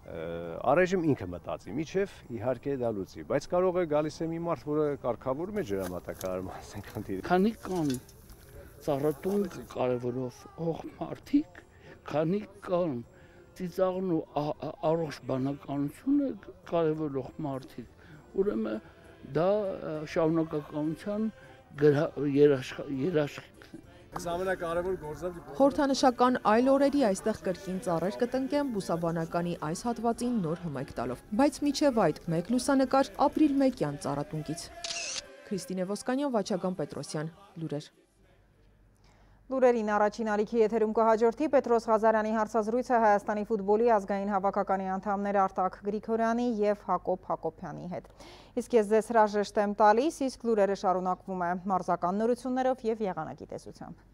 Speaker 11: առայժմ ինքը մտածի, միջև իհարկե դա լուծի, բայց կարող է գալիս է մի մարդ, որը կարգավորում է ջրամատակարարում, ասենք խնդիրը։
Speaker 14: Քանի կան ծառատունկ կարևորով հող մարդիկ, քանի կան ծիծաղն ու առողջ բանականությունը կարևորող մարդիկ, ուրեմն դա շարունակականության երաշխիքն է։
Speaker 11: Ամենակարևոր գործը
Speaker 12: Խորհրդանշական այլ օրերի այստեղ կրկին ծառեր կտնկեն բուսաբանականի այս հատվածին նոր հմայք տալով։ Բայց միջև այդ մեկ լուսանկար ապրիլմեկյան ծառատունկից։ Քրիստինե Ոսկանյան, Վաչագան Պետրոսյան, Լուրեր։
Speaker 13: Լուրերին առաջին ալիքի եթերում կհաջորդի Պետրոս Ղազարյանի հարցազրույցը Հայաստանի ֆուտբոլի ազգային հավաքականի անդամներ Արտակ Գրիգորյանի եւ Հակոբ Հակոբյանի հետ։ Իսկ ես ձեզ հրաժեշտ եմ տալիս, իսկ լուրերը շարունակվում է մարզական նորություններով եւ եղանակի տեսությամբ։